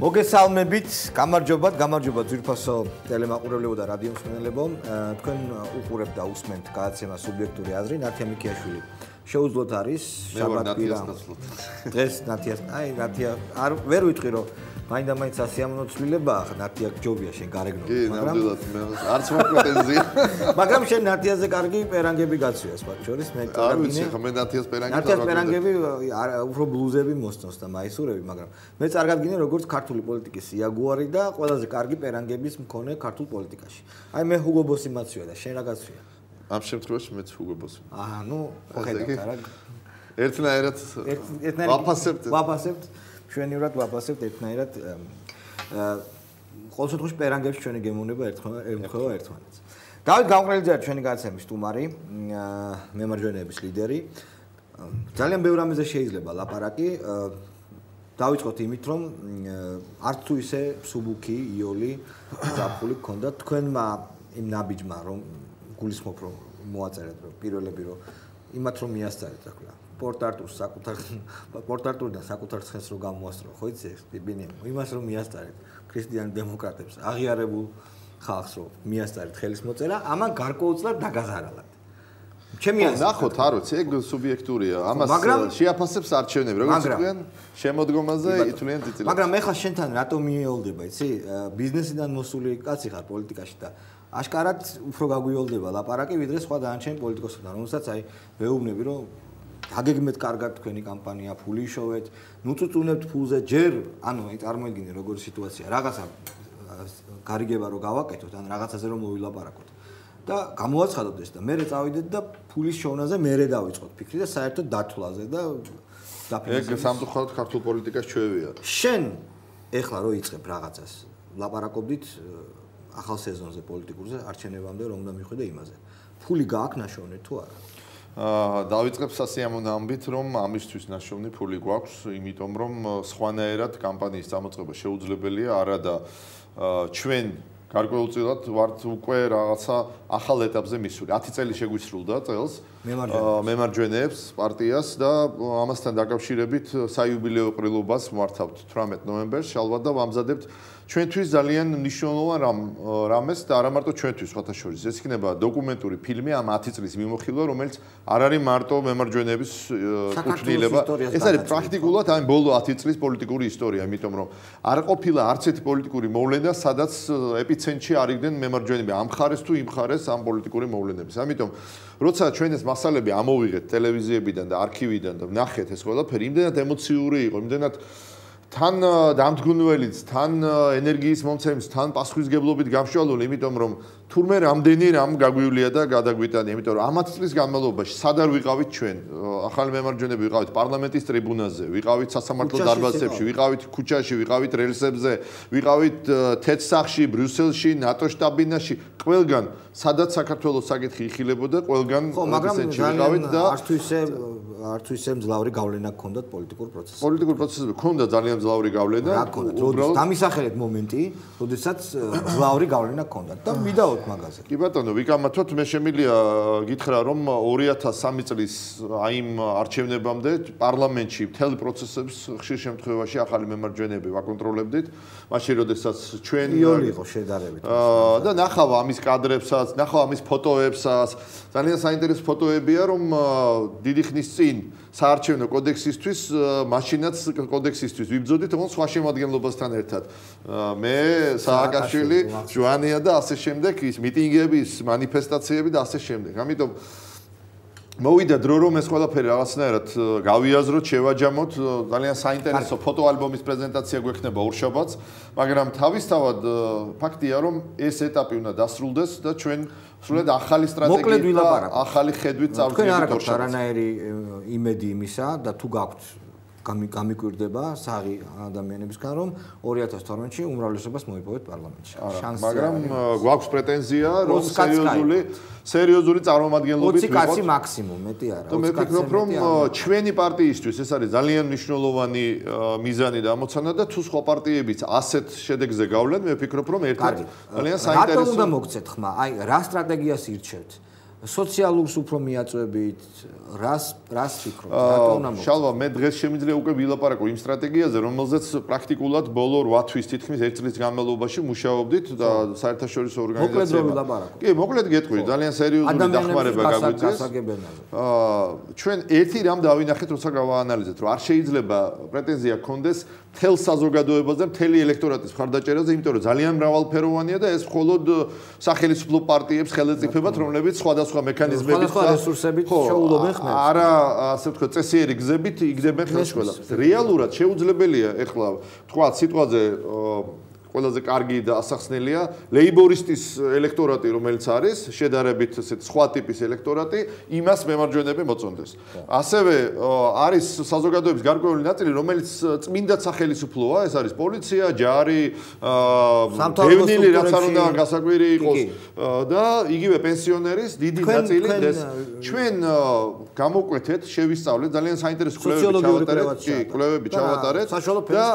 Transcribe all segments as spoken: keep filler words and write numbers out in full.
მოგესალმებით, გამარჯობათ, გამარჯობათ ძვირფასო ტელემაყურებლებო და რადიო მსმენელებო. თქვენ უყურებთ და უსმენთ გადაცემა სუბიექტური აზრი, ნათია მიქიაშვილი. შეუძლოთ არის შაბათ-კვირა. დღეს ნათიას, აი ნათია, არ ვერ ვიტყვი რომ მაინდა-მაინც ასიამოვნო ცვლილებაა, ნათია ჯობია შენ გარეგნო. კი, ნამდვილად მე არც მოპრეტენზია. მაგრამ შენ ნათიაზე კარგი პერანგები გაცვია, სხვა შორის მე არ ვიცი, ხო მე ნათიას პერანგები ნათიას პერანგები უფრო ბლუზები მოსწონს და მაისურები, მაგრამ მე წარგად გინე როგორც ქართული პოლიტიკის იაგუარი და ყველაზე კარგი პერანგების მქონე ქართულ პოლიტიკაში. აი მე ჰუგო ბოსი მაცვია და შენ რა გაცვია? ამ შემთხვევაში მეც ჰუგო ბოსი. აჰა, ნუ ხედავთ რა. ერთნაირად ვაფასებთ. ვაფასებთ. ჩვენივრად ვაფასებთ ერთნაირად. ყოველ შემთხვევაში პერანგებში ჩვენი გემოვნება ერთხმაება ერთმანეთს. დავით გამყრელიძე ჩვენი გადაცემის სტუმარი, მემარჯვენეების ლიდერი. ძალიან ბევრ რამეზე შეიძლება ლაპარაკი. დავიწყოთ იმით, რომ არც თუ ისე მსუბუქი, იოლი, ზაფხული გქონდა თქვენმა იმ ნაბიჯმა, რომ გულისხმობ რომ მოაწერეთ რომ პირველები რომ იმათ რომ მიასწარეთ რა ქვია. პორტარტურს საკუთარ პორტარტურიდან საკუთარ ცხენს რო გამოასწრო, ხო იცი ეს ბიბინი? იმას რომ მიასწარეთ ქრისტიან დემოკრატებს, აღიარებულ ხალხს რომ მიასწარეთ ხელის მოწერა, ამან გარკვეულწილად დაგაზარალათ. ჩემი აზრით. ნახოთ, არ ვიცი, ეგ სუბიექტურია. ამას შეაფასებს არჩევნები, როგორც თქვენ, შემოდგომაზე ითვლიან წიწილად. მაგრამ ეხლა შენთან რატომ მიეოლდება, იცი? ბიზნესიდან მოსული კაცი ხარ პოლიტიკაში და აშკარად უფრო გაგვიოლდება ლაპარაკი, ვიდრე სხვა დანარჩენი პოლიტიკოსებთან, რომელსაც აი ვეუბნები, რომ დაგეგმეთ კარგად თქვენი კამპანია, ფული იშოვეთ, ნუწუწუნებთ ფულზე, ჯერ, ანუ აი წარმოიდგინე როგორი სიტუაცია, რაღაცა გარიგება რო გავაკეთოთ, ან რაღაცაზე რომ მოვილაპარაკოთ. და გამოაცხადოთ ეს და მერე წავიდეთ და ფულის შოვნაზე მერე დავიწყოთ ფიქრი და საერთოდ დათვლაზე და დაფინანსებას. ეგ სამწუხაროდ ქართულ პოლიტიკას ჩვევია. შენ ეხლა რო იწყებ რაღაცას, ლაპარაკობდით ახალ სეზონზე პოლიტიკურზე არჩევნებამდე რომ უნდა მიხვიდე იმაზე. ფული გააქვს ნაშოვნი თუ არა? აა დავიწყებ სასიამოვნო ამბით, რომ ამისთვის ნაშოვნი ფული გვაქვს, იმიტომ რომ სხვანაირად კამპანიის წამოწყება შეუძლებელია, არა და ჩვენ გარკვეულწილად ვართ უკვე რაღაცა ახალ ეტაპზე მისული. ათი წელი შეგვისრულდა წელს მემარჯვენეებს პარტიას და ამასთან დაკავშირებით საიუბილეო ყრილობას მართავთ თვრამეტ ნოემბერს შალვა და ვამზადებთ ჩვენთვის ძალიან მნიშვნელოვან რამეს და არა მარტო ჩვენთვის, სხვათა შორის. ეს იქნება დოკუმენტური ფილმი ამ ათი წლის მიმოხილვა, რომელიც არ არის მარტო მემარჯვენეების კუთვნილება. ეს არის პრაქტიკულად ამ ბოლო ათი წლის პოლიტიკური ისტორია, იმიტომ რომ არ ყოფილა არც ერთი პოლიტიკური მოვლენა, სადაც ეპიცენტრში არ იყვნენ მემარჯვენეები ამ მხარეს თუ იმ მხარეს ამ პოლიტიკური მოვლენების. ამიტომ როცა ჩვენ ეს მასალები ამოვიღეთ ტელევიზიებიდან და არქივიდან და ვნახეთ ეს ყველაფერი, იმდენად ემოციური იყო, იმდენად თან დამდგუნველიც, თან ენერგიის მომცემს, თან პასუხისგებლობით გამშვალული, იმიტომ რომ თურმე რამდენი რამ გაგვივლია და გადაგვიტანია, იმიტომ რომ ამ ათი წლის განმავლობაში სად არ ვიყავით ჩვენ, ახალი მემარჯვენეები ვიყავით პარლამენტის ტრიბუნაზე, ვიყავით სასამართლო დარბაზებში, ვიყავით ქუჩაში, ვიყავით რელსებზე, ვიყავით თეთრსახში, ბრიუსელში, ნატო შტაბ-ბინაში, ყველგან სადაც საქართველოს საკითხი იხილებოდა, ყველგან ეპიცენტრში ვიყავით და არც თუ ისე არც თუ ისე მძლავრი გავლენა გქონდათ პოლიტიკურ პროცესზე. პოლიტიკურ პროცესზე გქონდა ძალიან მძლავრი გავლენა. რა გქონდათ? როდესაც დამისახელეთ მომენტი, როდესაც მძლავრი გავლენა გქონდათ და მიდაოთ მაგაზე. კი ბატონო, ვიკამათოთ, მე შემიძლია გითხრა, რომ ორი ათას სამი წლის აი იმ არჩევნებამდე პარლამენტში მთელი პროცესებს ხშირ შემთხვევაში ახალი მემარჯვენეები ვაკონტროლებდით. მაშინ როდესაც ჩვენ იოლი იყო შედარებით. და ნახავ ამის კადრებსაც, ნახავ ამის ფოტოებსაც. ძალიან საინტერესო ფოტოებია, რომ დიდი ხნის წინ საარჩევნო კოდექსისთვის, მაშინაც კოდექსისთვის ვიბრძოდით, თუმცა სხვა შემადგენლობასთან ერთად. მე, სააკაშვილი, ჯვანია და ასე შემდეგ, ის მიტინგები, მანიფესტაციები და ასე შემდეგ. ამიტომ მოვიდა დრო რომ ეს ყველაფერი რაღაცნაირად გავიაზროთ, შევაჯამოთ, ძალიან საინტერესო ფოტოალბომის პრეზენტაცია გვექნება ორშაბათს, მაგრამ თავისთავად ფაქტია რომ ეს ეტაპი უნდა დასრულდეს და ჩვენ სრულად ახალი სტრატეგიით და ახალი ხედვით წავიდეთ ორშაბათს. თქვენ არ გაქვთ არანაირი იმედი იმისა და თუ გაქვთ გამიკვირდება საღი ადამიანებისგან რომ ორი ათას თორმეტში უმრავლესობას მოიპოვეთ პარლამენტში. მაგრამ გვაქვს პრეტენზია რომ სერიოზული სერიოზული წარმომადგენლობით ოცი კაცი მაქსიმუმ, მეტი არა. და მე ვფიქრობ რომ ჩვენი პარტიისთვის ეს არის ძალიან მნიშვნელოვანი მიზანი და ამოცანა და თუ სხვა პარტიებიც ასეთ შედეგზე გავლენ, მე ვფიქრობ რომ ერთად ძალიან საინტერესო. რატომ უნდა მოგცეთ ხმა? აი რა სტრატეგიას ირჩევთ? სოციალურს უფრო მიაწვევით, რას რას ფიქრობთ? რატომ უნდა მოხდეს? შალვა, მე დღეს შემიძლია უკვე ვილაპარაკო იმ სტრატეგიაზე, რომელზეც პრაქტიკულად ბოლო რვა თვის თითქმის ერთ წლის განმავლობაში მუშაობდით და საერთაშორისო ორგანიზაციებთან. მოკლედ რომ ვილაპარაკო. კი, მოკლედ გეტყვი, ძალიან სერიოზული დახმარება გაგვიწეს. აა ჩვენ ერთი რამ დავინახეთ, როცა გავაანალიზეთ, რომ არ შეიძლება პრეტენზია გქონდეს თელ საზოგადოებაზე, მთელი ელექტორატის მხარდაჭერაზე, იმიტომ რომ ძალიან მრავალფეროვანია და ეს მხოლოდ სახელმწიფო პარტიებს ხელეწიფებათ, რომლებიც სხვადასხვა მექანიზმებით და რესურსებით შეუძლობენ ხმებს. არა, ასე ვთქვათ, წესიერი გზებით იგდებენ ხელს ყველაფერს. რეალურად შეუძლებელია ეხლა თქვა სიტყვაზე ყველაზე კარგი და ასახსნელია ლეიბორისტის ელექტორატი, რომელიც არის შედარებით ესეთ სხვა ტიპის ელექტორატი, იმას მემარჯვენეები მოწონდეს. ასევე არის საზოგადოების გარკვეული ნაწილი, რომელიც წმინდა სახელმწიფოა, ეს არის პოლიცია, ჯარი, დევნილი, რაც არ უნდა გასაკვირი იყოს და იგივე პენსიონერის დიდი ნაწილი ეს ჩვენ გამოკვეთეთ, შევისწავლეთ, ძალიან საინტერესო კვლევები ჩავატარეთ, კი, კვლევები ჩავატარეთ და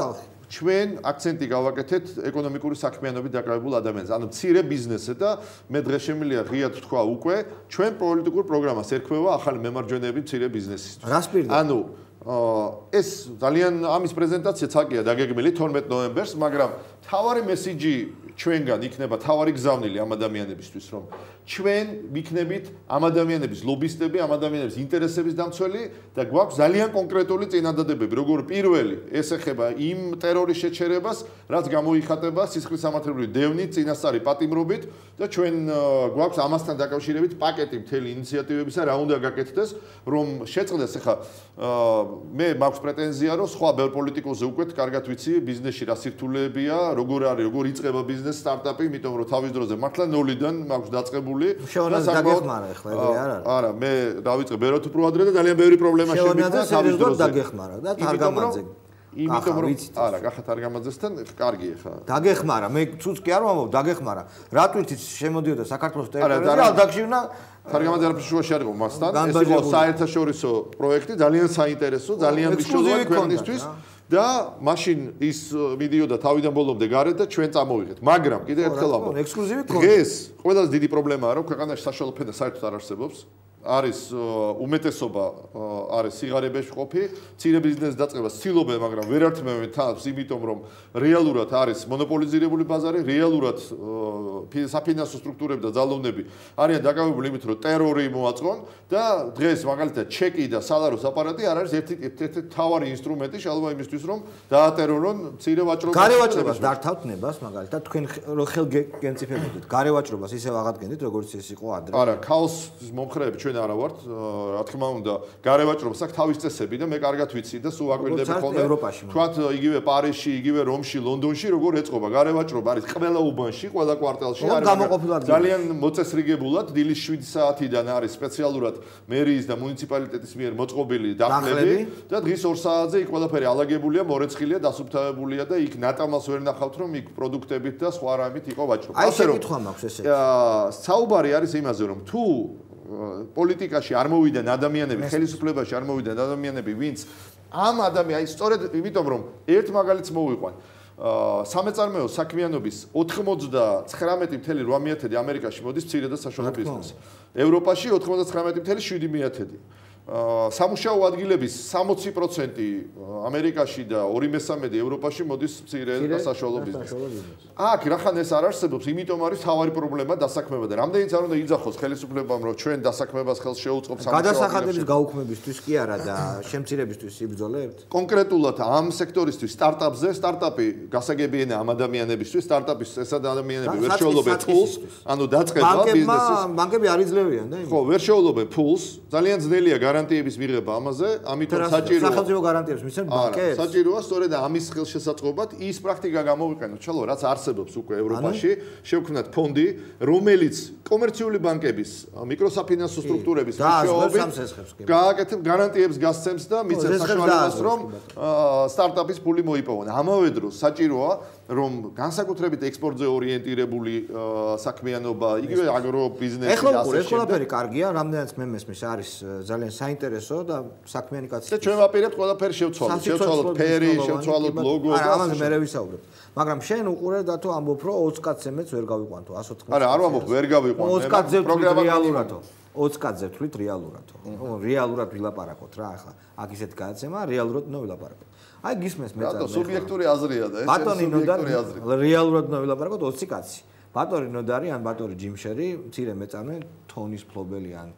ჩვენ აქცენტი გავაკეთეთ ეკონომიკური საქმიანობით დაკავებულ ადამიანებზე. ანუ მცირე ბიზნესზე და მე დღეს შემიძლია ღიად თქვა უკვე, ჩვენ პოლიტიკურ პროგრამას ერქმევა ახალი მემარჯვენეები მცირე ბიზნესისთვის. რას პირდა? ანუ ეს ძალიან ამის პრეზენტაცია ცალკეა დაგეგმილი თორმეტ ნოემბერს, მაგრამ თავარი მესიჯი ჩვენგან იქნება თავარი გზავნილი ამ ადამიანებისთვის, რომ ჩვენ ვიქნებით ამ ადამიანების ლობისტები, ამ ადამიანების ინტერესების დამცველი და გვაქვს ძალიან კონკრეტული წინადადებები. როგორ პირველი, ეს ეხება იმ ტერორის შეჩერებას, რაც გამოიხატება სისხლისამართლებლური დევნით, წინასწარი პატიმრობით და ჩვენ გვაქვს ამასთან დაკავშირებით პაკეტი მთელი ინიციატივებისა, რა უნდა გაკეთდეს, რომ შეწყდეს ახლა მე მაქვს პრეტენზია, რომ სხვა ბევრ პოლიტიკოსზე უკვე კარგად ვიცი ბიზნესში რა სირთულეებია, როგორ არის, როგორ იწყება ბიზნესი, სტარტაპი, იმიტომ რომ თავის დროზე მართლა ნოლიდან მაქვს დაწყებული. შევანაზე დაგეხმარა ახლა ეგრე არ არის. არა, მე დავიწყე ბევრად უფრო ადრე და ძალიან ბევრი პრობლემა შემიძლია თავის დროზე. დაგეხმარა და თარგამაძე. იმიტომ რომ არა, კახა თარგამაძესთან კარგი ხა. დაგეხმარა, მე ცუც კი არ ვამბობ, დაგეხმარა. რატვით შემოდიოდა საქართველოს ტერიტორიაზე, ალდაგშივნა თარგამაძე არ ფშუაში არ იყო მასთან. ეს იყო საერთაშორისო პროექტი, ძალიან საინტერესო, ძალიან მნიშვნელოვანი ქვეყნისთვის. და მაშინ ის მიდიოდა თავიდან ბოლომდე გარეთ და ჩვენ წამოვიღეთ. მაგრამ კიდევ ერთხელ ამბობ. ექსკლუზივი ქონდა. დღეს ყველაზე დიდი პრობლემაა, რომ ქვეყანაში საშუალო ფენა საერთოდ არ არსებობს. არის უმეტესობა არის სიღარიბეში ყოფი, მცირე ბიზნესის დაწყებას ცდილობენ, მაგრამ ვერ ართმევენ თავს, იმიტომ რომ რეალურად არის მონოპოლიზირებული ბაზარი, რეალურად საფინანსო სტრუქტურები და ძალოვნები არიან დაკავებული იმით, რომ ტერორი მოაწყონ და დღეს მაგალითად ჩეკი და სალაროს აპარატი არ არის ერთ-ერთი მთავარი ინსტრუმენტი შალვა იმისთვის, რომ დაატერორონ მცირე ვაჭრობას. გარევაჭრობას დართავთ ნებას, მაგალითად თქვენ ხელგენციფებოდით გარევაჭრობას ისევ აღადგენთ, როგორც ეს იყო ადრე. არა, ქაოსის მომხრეები ჩვენ არა ვართ, რა თქმა უნდა, გარევაჭრობას აქვს თავის წესები და მე კარგად ვიცი და სულ აკვირდები ხოლმე. თქვათ იგივე პარიზში, იგივე რომში, ლონდონში როგორ ეწყობა გარევაჭრობა არის ყველა უბანში, ყველა კვარტალში არის. ძალიან მოწესრიგებულად დილის შვიდი საათიდან არის სპეციალურად მერიის და მუნიციპალიტეტის მიერ მოწყობილი დახმები და დღის ორ საათზე იქ ყველაფერი ალაგებულია, მორეცხილია, დასუფთავებულია და იქ ნატამალს ვერ ნახავთ, რომ იქ პროდუქტებით და სხვა რამით იყო ვაჭრობა. აი შეკითხვა მაქვს ესე. საუბარი არის იმაზე, რომ თუ პოლიტიკაში არ მოვიდნენ ადამიანები, ხელისუფლებაში არ მოვიდნენ ადამიანები, ვინც ამ ადამიანს, აი სწორედ იმიტომ რომ ერთ მაგალითს მოვიყვან. სამეწარმეო საქმიანობის ოთხმოცდათხრამეტი წუთი რვა მიათედი ამერიკაში მოდის მცირე და საშუალო ბიზნესს. ევროპაში ოთხმოცდათხრამეტი წუთი შვიდი მიათედი. სამუშაო ადგილების სამოცი პროცენტი ამერიკაში და ორი მესამედი ევროპაში მოდის მცირე და საშუალო ბიზნესს. აქ რახან ეს არ არსებობს, იმიტომ არის თავარი პრობლემა დასაქმება და რამდენიც არ უნდა იძახოს ხელისუფლებამ, რომ ჩვენ დასაქმებას ხელს შეუწყობს სამუშაო ადგილებში. გადასახადების გაუქმებისთვის კი არა და შემცირებისთვის იბრძოლებთ? კონკრეტულად ამ სექტორისთვის სტარტაპზე, სტარტაპი გასაგებიენია ამ ადამიანებისთვის, სტარტაპის ეს ადამიანები ვერ შეუძლობენ ფულს, ანუ დაწყება ბიზნესის. ბანკები არ იძლევიან და ხო, ვერ შეუძლობენ ფულს, ძალიან ძნელია გარანტიების მიღება ამაზე, ამიტომ საჭიროა სახელმწიფო გარანტიებს მისცემ ბანკებს. საჭიროა სწორედ ამის ხელშესაწყობად ის პრაქტიკა გამოვიყენოთ, ჩალო, რაც არსებობს უკვე ევროპაში, შევქმნათ ფონდი, რომელიც კომერციული ბანკების, მიკროსაფინანსო სტრუქტურების მეშვეობით გააკეთებს გარანტიებს გასცემს და მიცემს საშუალებას, რომ სტარტაპის ფული მოიპოვონ. ამავე დროს საჭიროა, რომ განსაკუთრებით ექსპორტზე ორიენტირებული საქმიანობა, იგივე აგრობიზნესი ეხლა უკვე ეს ყველაფერი კარგია, რამდენიც მე მესმის არის ძალიან საინტერესო და საქმიანი კაცი. და ჩვენ ვაპირებთ ყველაფერი შევცვალოთ, შევცვალოთ ფერი, შევცვალოთ ლოგო და ამაზე მე ვისაუბრებ. მაგრამ შენ უყურე და თუ ამბობ, რომ ოცი კაცზე მეც ვერ გავიყვანთო, ასოთხმოცი. არა, არ ვამბობ, ვერ გავიყვანთო. ოცი კაცზე პროგრამა რეალურადო. ოცი კაცზე ვთვლით რეალურად. რეალურად ვილაპარაკოთ რა ახლა. აქ ისეთი გადაცემა, რეალურად უნდა ვილაპარაკოთ. აი გისმენს მე და სუბიექტური აზრია და ეს ბატონი ნოდარი რეალურად უნდა ვილაპარაკოთ ოცი კაცი. ბატონი ნოდარი ან ბატონი ჯიმშერი, მცირე მეწარმე, თონის ფლობელი ან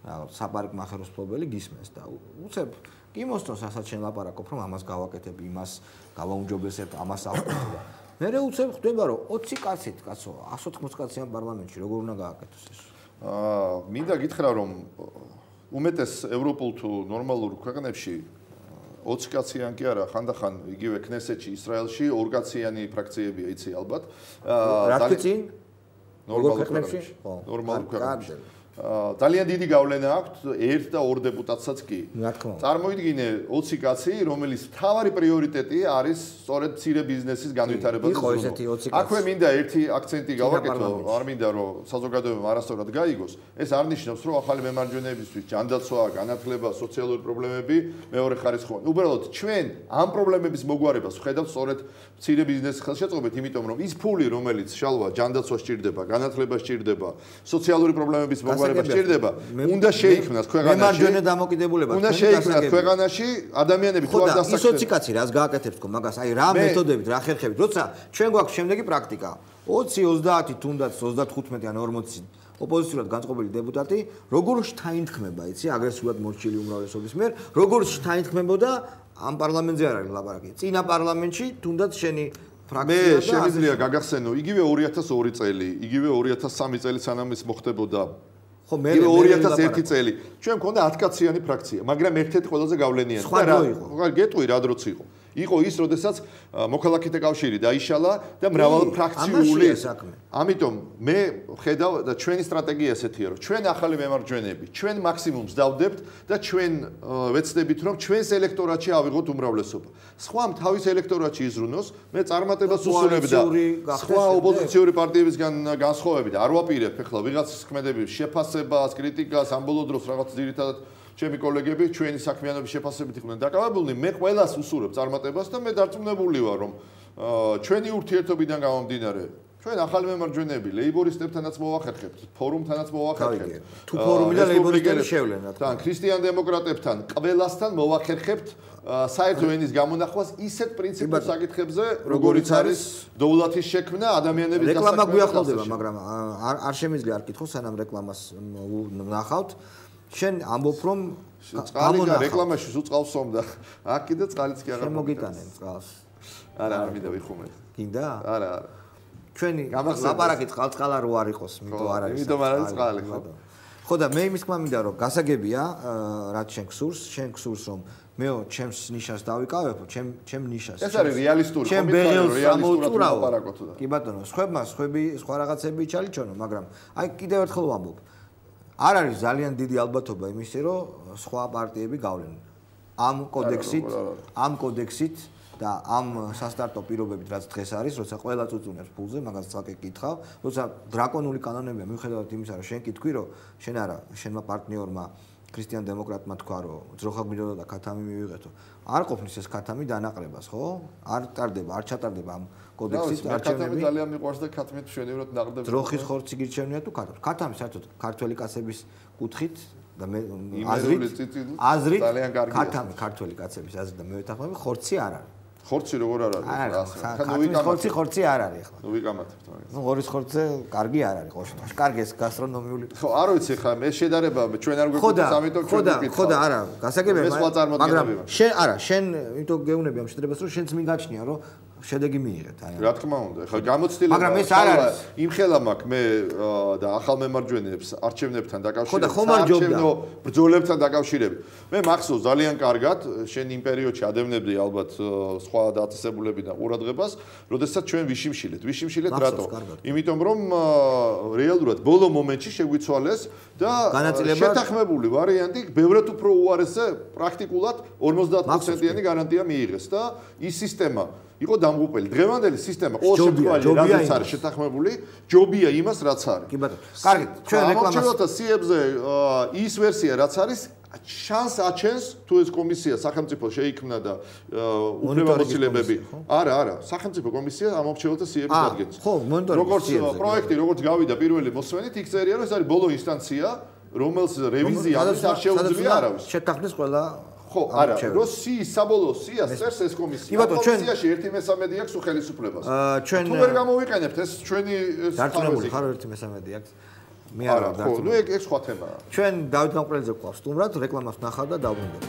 რაღაც საპარკმახეროს ფლობელი გისმენს და უცებ კი მოსწონს ასაც შენ ლაპარაკობ რომ ამას გავაკეთებ, იმას გავაუმჯობესებ, ამას ავხდები. მე უცებ ხდება რომ ოცი კაცით კაცო, εκατό ოთხმოცი კაციან პარლამენტში როგორ უნდა გააკეთოს ეს? აა მინდა გითხრა რომ უმეტეს ევროპულ თუ ნორმალურ ქვეყნებში ოცი კაციან კი არა, ხანდახან იგივე ქნესეთში, ისრაელში ორ კაციანი ფრაქციებია, იცი ალბათ. რა თქმა უნდა, ნორმალურ ქვეყნებში. ნორმალურ ქვეყნებში. ძალიან დიდი გავლენა აქვს ერთ და ორ დეპუტატსაც კი. წარმოიდგინე ოცი კაცი, რომელიც მთავარი პრიორიტეტი არის სწორედ მცირე ბიზნესის განვითარება და ზრუნვა. აქვე მინდა ერთი აქცენტი გავაკეთო, არ მინდა რომ საზოგადოებამ არასწორად გაიგოს. ეს არ ნიშნავს, რომ ახალი მემარჯვენეებისთვის ჯანდაცვა, განათლება, სოციალური პრობლემები მეორე ხარისხოვანი. უბრალოდ ჩვენ ამ პრობლემების მოგვარებას ვხედავთ სწორედ მცირე ბიზნესის ხელშეწყობით, იმიტომ რომ ის ფული, რომელიც შალვა ჯანდაცვა სჭირდება, განათლება სჭირდება, სოციალური პრობლემების მოგვარება სჭირდება, უნდა შეიქმნას ქვეყანაში. მემარჯვენე დამოკიდებულება. უნდა შეიქმნას ქვეყანაში ადამიანები თუ არ დასაქმებულნი. ის ოცი კაცი რას გააკეთებს თქო მაგას? აი რა მეთოდებით, რა ხერხებით? როცა ჩვენ გვაქვს შემდეგი პრაქტიკა. ოცი, ოცდაათი, თუნდაც ოცდათოთხმეტი ან ორმოცი ოპოზიციურად განწყობილი დეპუტატი, როგორ შთაინთქმება, იცი, აგრესიულად მორჩილი უმრავლესობის მიერ, როგორ შთაინთქმებოდა ამ პარლამენტზე არ არის ლაპარაკი. წინა პარლამენტში თუნდაც შენი ფრაქცია და შემიძლია გაგახსენო, იგივე ორი ათას ორი წელი, იგივე ორი ათას სამი წელი სანამ ეს მოხდებოდა. ხო მე ორი ათას ერთი წელი. ჩვენ მქონდა ათი კაციანი ფრაქცია, მაგრამ ერთ-ერთი ყველაზე გავლენიანი და რა იყო? გეტყვი რა დროც იყო. იყო ის, როდესაც მოქალაქეთა კავშირი დაიშალა და მრავალფრაქციული საქმე. ამიტომ მე ვხედავ და ჩვენი სტრატეგია ესეთია, რომ ჩვენ ახალი მემარჯვენეები, ჩვენ მაქსიმუმს დავდებთ და ჩვენ ვეცდებით, რომ ჩვენს ელექტორატში ავიღოთ უმრავლესობა. სხვა თავის ელექტორატში იზრუნოს, მე წარმატებას უსურვებ და სხვა ოპოზიციური პარტიებისგან განსხვავებით არ ვაპირებ ახლა ვიღაცის ქმედების შეფასებას, კრიტიკას, ამ ბოლო დროს რაღაც ძირითადად ჩემი კოლეგები ჩვენი საქმიანობის შეფასებით იყვნენ დაკავებულნი, მე ყველას უსურვებ წარმატებას და მე დარწმუნებული ვარ, რომ ჩვენი ურთიერთობიდან გამომდინარე, ჩვენ ახალი მემარჯვენეები ლეიბორისტებთანაც მოვახერხებთ, ფორუმთანაც მოვახერხებთ. თუ ფორუმი და ლეიბორისტები შევლენათ. თან ქრისტიან დემოკრატებთან, ყველასთან მოვახერხებთ საერთო ენის გამონახვას ისეთ პრინციპულ საკითხებზე, როგორიც არის დოულათის შექმნა, ადამიანების დასაქმება. რეკლამა გვიახლოვდება, მაგრამ არ შემიძლია არ კითხო, სანამ რეკლამას ვნახავთ. შენ ამბობ რომ წყალი და რეკლამაში სულ წყალს სვამდა. აქ კიდე წყალიც კი აღარ მოგიტანენ წყალს. არა, არ მინდა ვიხუმე. გინდა? არა, არა. ჩვენი ლაპარაკი წყალწყალა რო არ იყოს, მითო არ არის. იმიტომ არ არის წყალი, ხო? ხო და მე იმის თქმა მინდა რომ გასაგებია, რაც შენ გსურს, შენ გსურს რომ მეო ჩემს ნიშას დავიკავებო, ჩემ ჩემ ნიშას. ეს არის რეალისტური კომენტარი, ჩემ ბეღელს ამოვწურავო. კი ბატონო, სხვებმა სხვები სხვა რაღაცები ჩალიჩონო, მაგრამ აი კიდევ ერთხელ ვამბობ. არ არის ძალიან დიდი ალბათობა იმისი, რომ სხვა პარტიები გავლენენ. ამ კოდექსით, ამ კოდექსით და ამ სასტარტო პირობებით, რაც დღეს არის, როცა ყველა წუწუნებს ფულზე, მაგას ცალკე გკითხავ, როცა დრაკონული კანონებია, მიუხედავად იმისა, რომ შენ კითხვი, რომ შენ არა, შენმა პარტნიორმა ქრისტიან დემოკრატმა თქვა, რომ ძროხა გვინდოდა და ქათამი მივიღეთო. არ ყოფნის ეს ქათამი დანაყრებას, ხო? არ ტარდება, არ ჩატარდება ამ კოდექსით არჩევნები. ძალიან მიყვარს და ქათმით მშვენივრად ნაყრდები. ძროხის ხორცი გირჩევნია თუ ქათამი? ქათამი საერთოდ ქართველი კაცების კუთხით და მე აზრით აზრით ქათამი ქართველი კაცების აზრით და მე ვეთანხმები ხორცი არ არის. ხორცი როგორ არ არის? ქათმის ხორცი ხორცი არ არის ახლა. ნუ ვიკამათებთ მაგას. ნუ ღორის ხორცზე კარგი არ არის ყოველ შემთხვევაში. კარგი ეს გასტრონომიული. ხო, არ ვიცი ხა მე შედარება ჩვენ არ გვექნება ამიტომ ჩვენ ვიკითხავ. ხო და არა, გასაგებია, მაგრამ შენ არა, შენ იმიტომ გეუნები ამ შედარებას რომ შენც მიგაჩნია რომ შედეგი მიიღეთ აი. რა თქმა უნდა, ხა გამოცდილება. მაგრამ ეს არ არის. იმხელა მაქვს მე და ახალ მემარჯვენეებს არჩევნებთან დაკავშირებით. ხო და ხომ არ ჯობდა. ბრძოლებთან დაკავშირებით. მე მახსოვს ძალიან კარგად, შენ იმ პერიოდში ადევნებდი ალბათ სხვა დაწესებულები და ყურადღებას, როდესაც ჩვენ ვიშიმშილეთ. ვიშიმშილეთ რატო? იმიტომ რომ რეალურად ბოლო მომენტში შეგვიცვალეს და შეთანხმებული ვარიანტი ბევრად უფრო უარესზე პრაქტიკულად ორმოცდაათ პროცენტიანი გარანტია მიიღეს და ის სისტემა იყო დამღუპელი. დღევანდელი სისტემა ყოველ შემთხვევაში რაც არის შეთანხმებული, ჯობია იმას რაც არის. კი ბატონო. კარგი, ჩვენ რეკლამას ამოწევთ სიებზე ის ვერსია რაც არის შანს აჩენს თუ ეს კომისია სახელმწიფო შეიქმნა და უფლებამოსილებები არა არა სახელმწიფო კომისია ამორჩეველთა სიების ადგენს. ხო, მონიტორინგის როგორც პროექტი როგორც გავიდა პირველი მოსვენით იქ წერია რომ ეს არის ბოლო ინსტანცია რომელს რევიზიას არ შეუძლია არავის. შეთანხმდეს ყველა ხო, არა, რო სიის საბოლოო სიას წერს ეს კომისია. კომისიაში ერთი მესამედი აქვს ხელისუფლებას. ჩვენ თუ ვერ გამოვიყენებთ ეს ჩვენი დარწმუნებული ხარ ერთი მესამედი აქვს. მე არ ვარ დარწმუნებული. ნუ ეგ ეგ სხვა თემაა. ჩვენ დავით გამყრელიძე გვყავს სტუმრად, რეკლამას ნახავ და დავბრუნდები.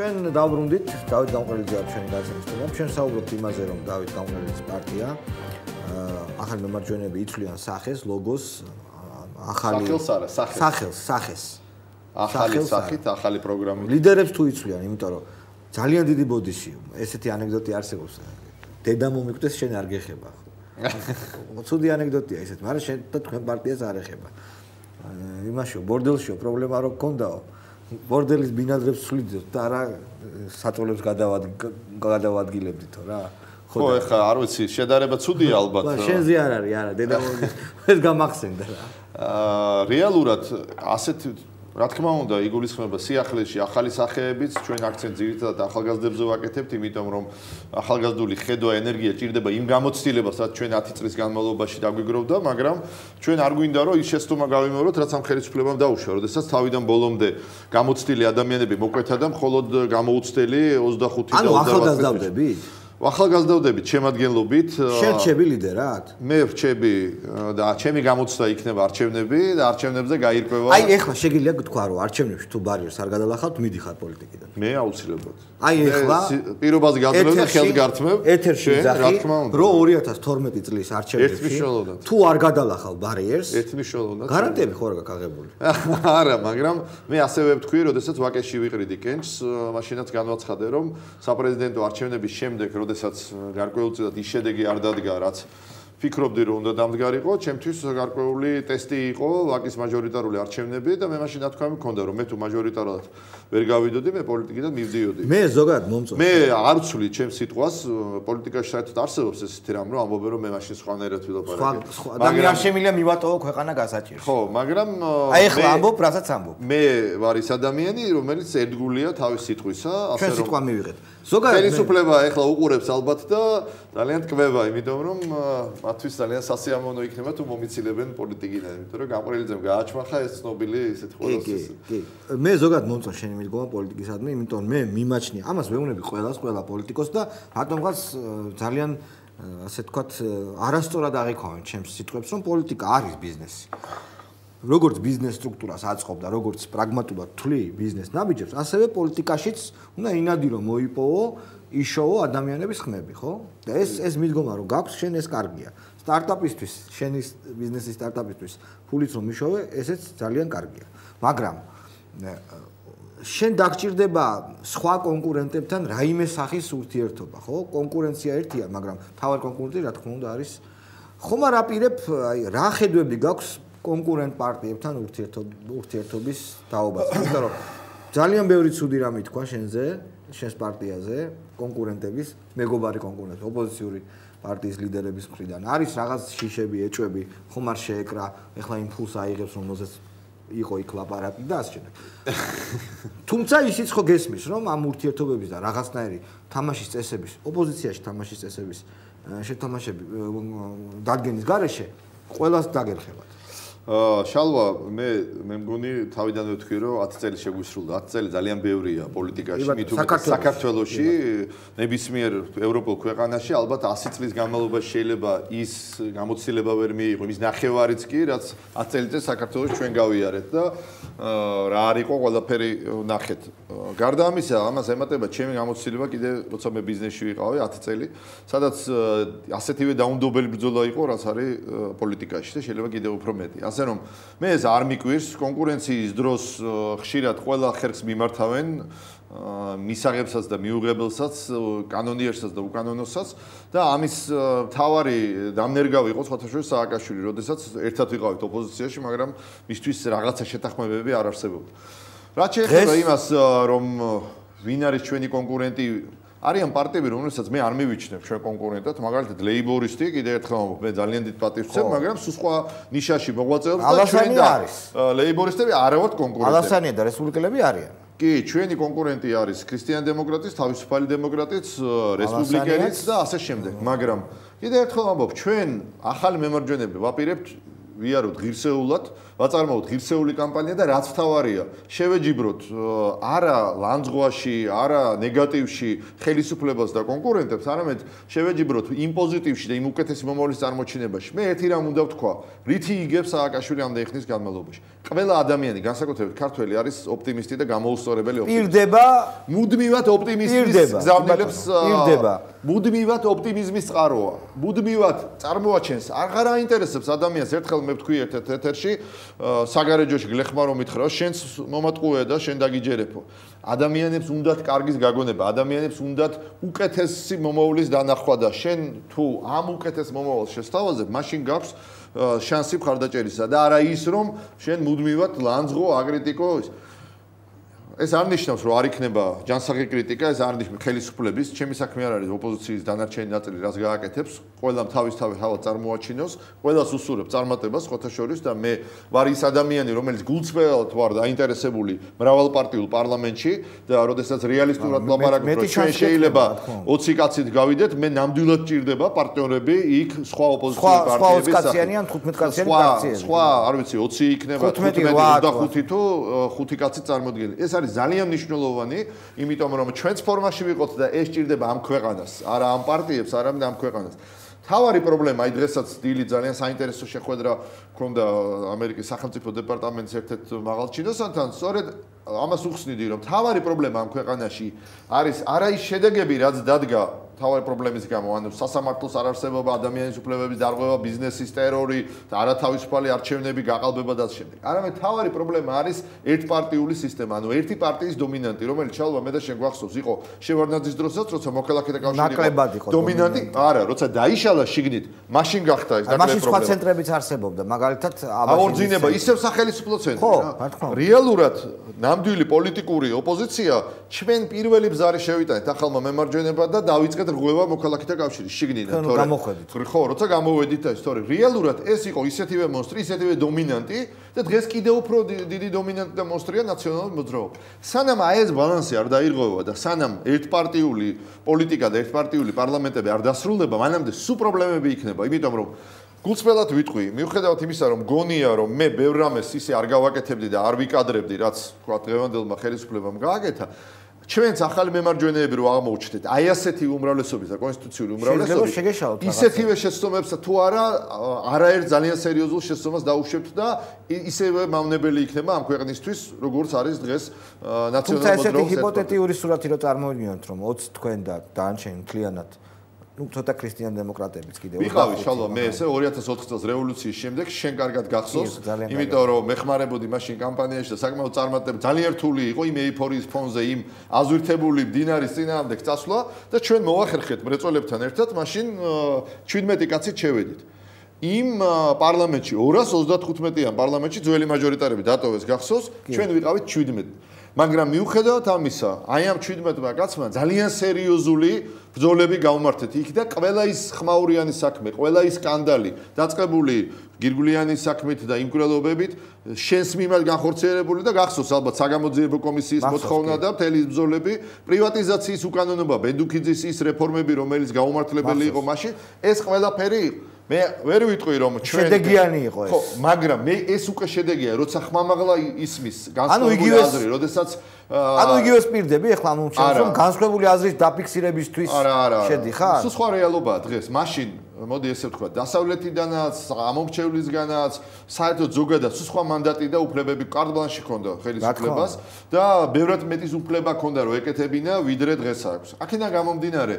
ჩვენ დავბრუნდით დავით გამყრელიძე არის ჩვენი გაზეთის სტუმარი. ჩვენ საუბრობთ იმაზე, რომ დავით გამყრელიძის პარტია ახალი მემარჯვენეები იცვლიან სახეს, ლოგოს, ახალი სახელს არა, სახეს. სახელს, სახეს. ახალი სახით, ახალი პროგრამით. ლიდერებს თუ იცვლიან, იმიტომ რომ ძალიან დიდი ბოდიში, ესეთი ანეკდოტი არსებობს. დედა მომიკვდეს, შენ არ გეხება. ცუდი ანეკდოტია ესეთ, მაგრამ შენ და თქვენ პარტიას არ ეხება. იმაშო, ბორდელშო პრობლემა რო გქონდაო. ბორდელის ბინადრებს ვსვლიდოთ და არა საწოლებს გადავადგილებდითო რა. ხო, ეხა არ ვიცი, შედარება ცუდია ალბათ. შენზე არ არის, არა, დედა მომიკვდეს, ეს გამახსენდა რა. აა რეალურად ასეთ რა თქმა უნდა იგულისხმება სიახლეში ახალი სახეებიც ჩვენ აქცენტ ძირითადად ახალგაზრდებზე ვაკეთებთ, იმიტომ რომ ახალგაზრდული ხედვა, ენერგია ჭირდება იმ გამოცდილებას, რაც ჩვენ ათი წლის განმავლობაში დაგვიგროვდა, მაგრამ ჩვენ არ გვინდა რომ ის შეცდომა გავიმეოროთ, რაც ამ ხელისუფლებამ დაუშვა, როდესაც თავიდან ბოლომდე გამოცდილი ადამიანები მოკვეთა და მხოლოდ გამოუცდელი ოცდახუთი და ანუ ახალგაზრდები? ახალგაზრდებით შემადგენლობით შენ რჩები ლიდერად? მე რჩები და ჩემი გამოცდა იქნება არჩევნები და არჩევნებზე გაირკვევა. აი ეხლა შეგიძლია გთქვა რომ არჩევნებში თუ ბარიერს არ გადალახავთ, მიდიხარ პოლიტიკიდან. მე აუცილებლად. აი ეხლა პირობას გაძლევ და ხელს გართმევ. ეთერში ზახი რომ ორი ათას თორმეტი წლის არჩევნებში თუ არ გადალახავ ბარიერს, ერთმიშველოვნად. გარანტიები ხო არ გაქვს აღებული? არა, მაგრამ მე ასევე ვთქვი, როდესაც ვაკეში ვიყრიდი კენჭს, მაშინაც განვაცხადე რომ საპრეზიდენტო არჩევნების შემდეგ როდესაც გარკვეულწილად ის შედეგი არ დადგა, რაც ფიქრობდი რომ უნდა დამდგარიყო, ჩემთვის გარკვეული ტესტი იყო ვაკის მაჟორიტარული არჩევნები და მე მაშინ ნათქვამი მქონდა რომ მე თუ მაჟორიტარულად ვერ გავიდოდი, მე პოლიტიკიდან მივდიოდი. მე ზოგადად მომწონს. მე არ ვცვლი ჩემს სიტყვას, პოლიტიკაში საერთოდ არსებობს ესეთი რამ, რომ ამბობენ რომ მე მაშინ სხვანაირად ვილაპარაკე. მაგრამ არ შემიძლია მივატოვო ქვეყანა გასაჭირს. ხო, მაგრამ აი ეხლა ამბობ, რასაც ამბობ. მე ვარ ის ადამიანი, რომელიც ერთგულია თავის სიტყვისა, ასე რომ ჩვენ სიტყვა მივიღეთ. ზოგადად ხელისუფლება ეხლა უყურებს ალბათ და ძალიან ტკბება, იმიტომ რომ მათთვის ძალიან სასიამოვნო იქნება თუ მომიცილებენ პოლიტიკიდან, იმიტომ რომ გამყრელიძემ გააჩმახა ეს ცნობილი ისეთი ყველას ეს. კი, კი. მე ზოგადად მომწონს შენი მიდგომა პოლიტიკისადმი, იმიტომ რომ მე მიმაჩნია, ამას ვეუბნები ყველას, ყველა პოლიტიკოსს და რატომღაც ძალიან ასე თქვათ არასწორად აღიქვამენ ჩემს სიტყვებს, რომ პოლიტიკა არის ბიზნესი. როგორც ბიზნეს სტრუქტურას აწყობ და როგორც პრაგმატულად თვლი ბიზნეს ნაბიჯებს, ასევე პოლიტიკაშიც უნდა ინადი რომ მოიპოვო, იშოვო ადამიანების ხმები, ხო? და ეს ეს მიდგომა რომ გაქვს, შენ ეს კარგია. სტარტაპისთვის, შენი ბიზნესის სტარტაპისთვის ფულიც რომ იშოვე, ესეც ძალიან კარგია. მაგრამ შენ დაგჭირდება სხვა კონკურენტებთან რაიმე სახის ურთიერთობა, ხო? კონკურენცია ერთია, მაგრამ თავად კონკურენტი რა თქმა უნდა არის. ხომ არ აპირებ, აი რა ხედვები გაქვს კონკურენტ პარტიებთან ურთიერთობის თაობაზე. იმიტომ რომ ძალიან ბევრი ცუდი რამ ითქვა შენზე, შენს პარტიაზე, კონკურენტების, მეგობარი კონკურენტები, ოპოზიციური პარტიის ლიდერების მხრიდან. არის რაღაც შიშები, ეჭვები, ხომ არ შეეკრა, ეხლა იმ ფულს აიღებს, რომელზეც იყო იქ ლაპარაკი და ასე შემდეგ. თუმცა ისიც ხო გესმის, რომ ამ ურთიერთობების და რაღაცნაირი თამაშის წესების, ოპოზიციაში თამაშის წესების შეთამაშები დადგენის გარეშე ყველას დაგერხებათ. შალვა, მე მე მგონი თავიდანვე ვთქვი, რომ ათი წელი შეგვისრულდა. ათი წელი ძალიან ბევრია პოლიტიკაში, მით უმეტეს საქართველოში, ნებისმიერ ევროპულ ქვეყანაში, ალბათ ასი წლის განმავლობაში შეიძლება ის გამოცდილება ვერ მიიღო, ის ნახევარიც კი, რაც ათი წელი წინ საქართველოში ჩვენ გავიარეთ და რა არ იყო ყველაფერი ნახეთ. გარდა ამისა, ამას ემატება ჩემი გამოცდილება კიდე როცა მე ბიზნესში ვიყავი ათი წელი, სადაც ასეთივე დაუნდობელი ბრძოლა იყო, რაც არის პოლიტიკაში და შეიძლება კიდევ უფრო მეტი. ასე რომ მე ეს არ მიკვირს კონკურენციის დროს ხშირად ყველა ხერხს მიმართავენ მისაღებსაც და მიუღებელსაც, კანონიერსაც და უკანონოსაც და ამის მთავარი დამნერგავი იყო სხვათა შორის სააკაშვილი, როდესაც ერთად ვიყავით ოპოზიციაში, მაგრამ მისთვის რაღაცა შეთანხმებები არ არსებობდა. რაც შეეხება იმას, რომ ვინ არის ჩვენი კონკურენტი არიან პარტიები, რომელსაც მე არ მივიჩნევ ჩვენ კონკურენტად, მაგალითად ლეიბორისტი, კიდევ ერთხელ მე ძალიან დიდ პატივს ვცემ, მაგრამ სულ სხვა ნიშაში მოღვაწეობს და ჩვენ და ლეიბორისტები არ ვართ კონკურენტები. ალასანია და რესპუბლიკელები არიან. კი, ჩვენი კონკურენტი არის ქრისტიან დემოკრატიც, თავისუფალი დემოკრატიც, რესპუბლიკელიც და ასე შემდეგ. მაგრამ კიდევ ერთხელ ვამბობ, ჩვენ ახალი მემარჯვენეები ვაპირებთ ვიაროთ ღირსეულად, ვაწარმოოთ ღირსეული კამპანია და რაც თავარია, შევეჯიბროთ არა ლანძღვაში, არა ნეგატივში ხელისუფლებას და კონკურენტებს, არამედ შევეჯიბროთ იმ პოზიტივში და იმ უკეთესი მომავლის წარმოჩინებაში. მე ერთი რამ უნდა ვთქვა, რითი იგებს სააკაშვილი ამდენი ხნის განმავლობაში. ყველა ადამიანი, განსაკუთრებით ქართველი არის ოპტიმისტი და გამოუსწორებელი ოპტიმისტი. პირდება, მუდმივად ოპტიმიზმის გზავნილებს პირდება. მუდმივად ოპტიმიზმის წყაროა. მუდმივად წარმოაჩენს, აღარ აინტერესებს ადამიანს ერთხელ მე ვთქვი ერთ ეთერში საგარეჯოში გლეხმა რომ მითხრა შენს მომატყუე და შენ დაგიჯერებო. ადამიანებს უნდათ კარგის გაგონება, ადამიანებს უნდათ უკეთესი მომავლის დანახვა და შენ თუ ამ უკეთეს მომავალს შესთავაზებ, მაშინ გაქვს შანსი მხარდაჭერისა და არა ის რომ შენ მუდმივად ლანძღო, აკრიტიკო ის ეს არ ნიშნავს რომ არ იქნება ჯანსაღი კრიტიკა, ეს არ ნიშნავს ხელისუფლების, ჩემი საქმე არ არის ოპოზიციის დანარჩენი ნაწილი რას გააკეთებს, ყველამ თავის-თავი ჰავა წარმოაჩინოს, ყველას უსურებ წარმატებას ხოთაშორის და მე ვარ ის ადამიანი, რომელიც გულწრფელად ვარ დაინტერესებული მრავალპარტიულ პარლამენტში და როდესაც რეალისტურად ლაპარაკობ, რომ ჩვენ შეიძლება ოცი კაცით გავიდეთ, მე ნამდვილად ჭირდება პარტნიორები იქ სხვა ოპოზიციური პარტიების კაციანი ან თხუთმეტ კაციანი პარტიები. სხვა, არ ვიცი, ოცი იქნება, თხუთმეტი, ოცდახუთი თუ ხუთი კაცი წარმოდგენილი. ეს არის ძალიან მნიშვნელოვანი, იმიტომ რომ ჩვენც ფორმაში ვიყოთ და ეს ჭირდება ამ ქვეყანას, არა ამ პარტიებს, არამედ ამ ქვეყანას. თავარი პრობლემა, აი დღესაც დილით ძალიან საინტერესო შეხვედრა ჰქონდა ამერიკის სახელმწიფო დეპარტამენტის ერთ-ერთ მაღალ ჩინოსანთან, სწორედ ამას უხსნიდი, რომ თავარი პრობლემა ამ ქვეყანაში არის არა ის შედეგები, რაც დადგა თავარი პრობლემის გამო, ანუ სასამართლოს არარსებობა, ადამიანის უფლებების დარღვევა, ბიზნესის ტერორი, არათავისუფალი არჩევნები, გაყალბება და ამ შემდეგ. არამედ თავარი პრობლემა არის ერთპარტიული სისტემა, ანუ ერთი პარტიის დომინანტი, რომელიც ჩალვა მე და შენ გვახსოვს, იყო შევარდნაძის დროსაც, როცა მოქალაქეთა კავშირი იყო დომინანტი, არა, როცა დაიშალა შიგნით, მაშინ გახდა ეს ნაკლები პრობლემა. მაშინ სხვა ცენტრებიც არსებობდა, მაგალითად აღორძინება, ისევ სახელმწიფო ცენტრი რა. რეალურად ნამდვილი პოლიტიკური ოპოზიცია ჩვენ პირველი ბზარი შევიტანეთ ახალმა მემარჯვენებად და დავიწყეთ რღვევა მოქალაქეთა კავშირის შიგნიდან, თორე გამოხედით. ხო, როცა გამოვედით ეს, თორე რეალურად ეს იყო ისეთივე მონსტრი, ისეთივე დომინანტი და დღეს კიდევ უფრო დიდი დომინანტი და მონსტრია ნაციონალური მოძრაობა. სანამ აი ეს ბალანსი არ დაირღვევა და სანამ ერთპარტიული პოლიტიკა და ერთპარტიული პარლამენტები არ დასრულდება, მანამდე სულ პრობლემები იქნება, იმიტომ რომ გულწრფელად ვიტყვი, მიუხედავად იმისა, რომ გონია, რომ მე ბევრ რამეს ისე არ გავაკეთებდი და არ ვიკადრებდი, რაც თქვა დღევანდელმა ხელისუფლებამ გააკეთა, ჩვენც ახალი მემარჯვენეები რო აღმოუჩნდეთ, აი ასეთი უმრავლესობის და კონსტიტუციური უმრავლესობის ისეთივე შეცდომებს თუ არა, არაერთ ძალიან სერიოზულ შეცდომას დაუშვებთ და ისევე მავნებელი იქნება ამ ქვეყნისთვის, როგორც არის დღეს ნაციონალური მოძრაობის. ესეთი ჰიპოთეტიური სურათი რო წარმოვიდგინოთ, რომ ოცი თქვენ და დაანჩენ მთლიანად ну ცოტა ქრისტიან დემოკრატებიც კიდევ ვიყავი შალვა მე ესე ორი ათას ოთხი წელს რევოლუციის შემდეგ შენ კარგად გახსოვს იმიტომ რომ მეხმარებოდი მაშინ კამპანიაში და საკმაოდ წარმატებული ძალიან რთული იყო იმ ეიფორიის ფონზე იმ აზვირთებული მდინარის წინააღმდეგ წასვლა და ჩვენ მოახერხეთ მრეწველებთან ერთად მაშინ შვიდმეტი კაცით შევედით იმ პარლამენტში ორას ოცდათხუთმეტიან პარლამენტში ძველი მაჟორიტარები დატოვეს გახსოვს ჩვენ ვიყავით შვიდმეტი მაგრამ მიუხედავად ამისა, აი ამ შვიდმეტმა კაცმა ძალიან სერიოზული ბრძოლები გავმართეთ იქ და ყველა ის ხმაურიანი საქმე, ყველა ის სკანდალი დაწყებული გირგვლიანის საქმით და იმკვლელობებით შენს მიმართ განხორციელებული და გახსოვს ალბათ საგამოძიებო კომისიის მოთხოვნა და მთელი ბრძოლები, პრივატიზაციის უკანონობა, ბენდუქიძის ის რეფორმები, რომელიც გაუმართლებელი იყო მაშინ, ეს ყველაფერი იყო. მე ვერ ვიტყვი რომ ჩვენ შედეგიანი იყო ეს. ხო, მაგრამ მე ეს უკვე შედეგია, როცა ხმამაღლა ისმის განსხვავებული აზრი, როდესაც ანუ იგივე სპირდები ახლა მომჩენს რომ განსხვავებული აზრის დაფიქსირებისთვის შედიხარ? სულ სხვა რეალობაა დღეს. მაშინ მოდი ესე ვთქვა, დასავლეთიდანაც, ამომრჩევლისგანაც, საერთოდ ზოგადად სულ სხვა მანდატი და უფლებები კარტ-ბლანში ჰქონდა ხელისუფლებას და ბევრად მეტის უფლება ჰქონდა რომ ეკეთებინა, ვიდრე დღეს აქვს. აქედან გამომდინარე,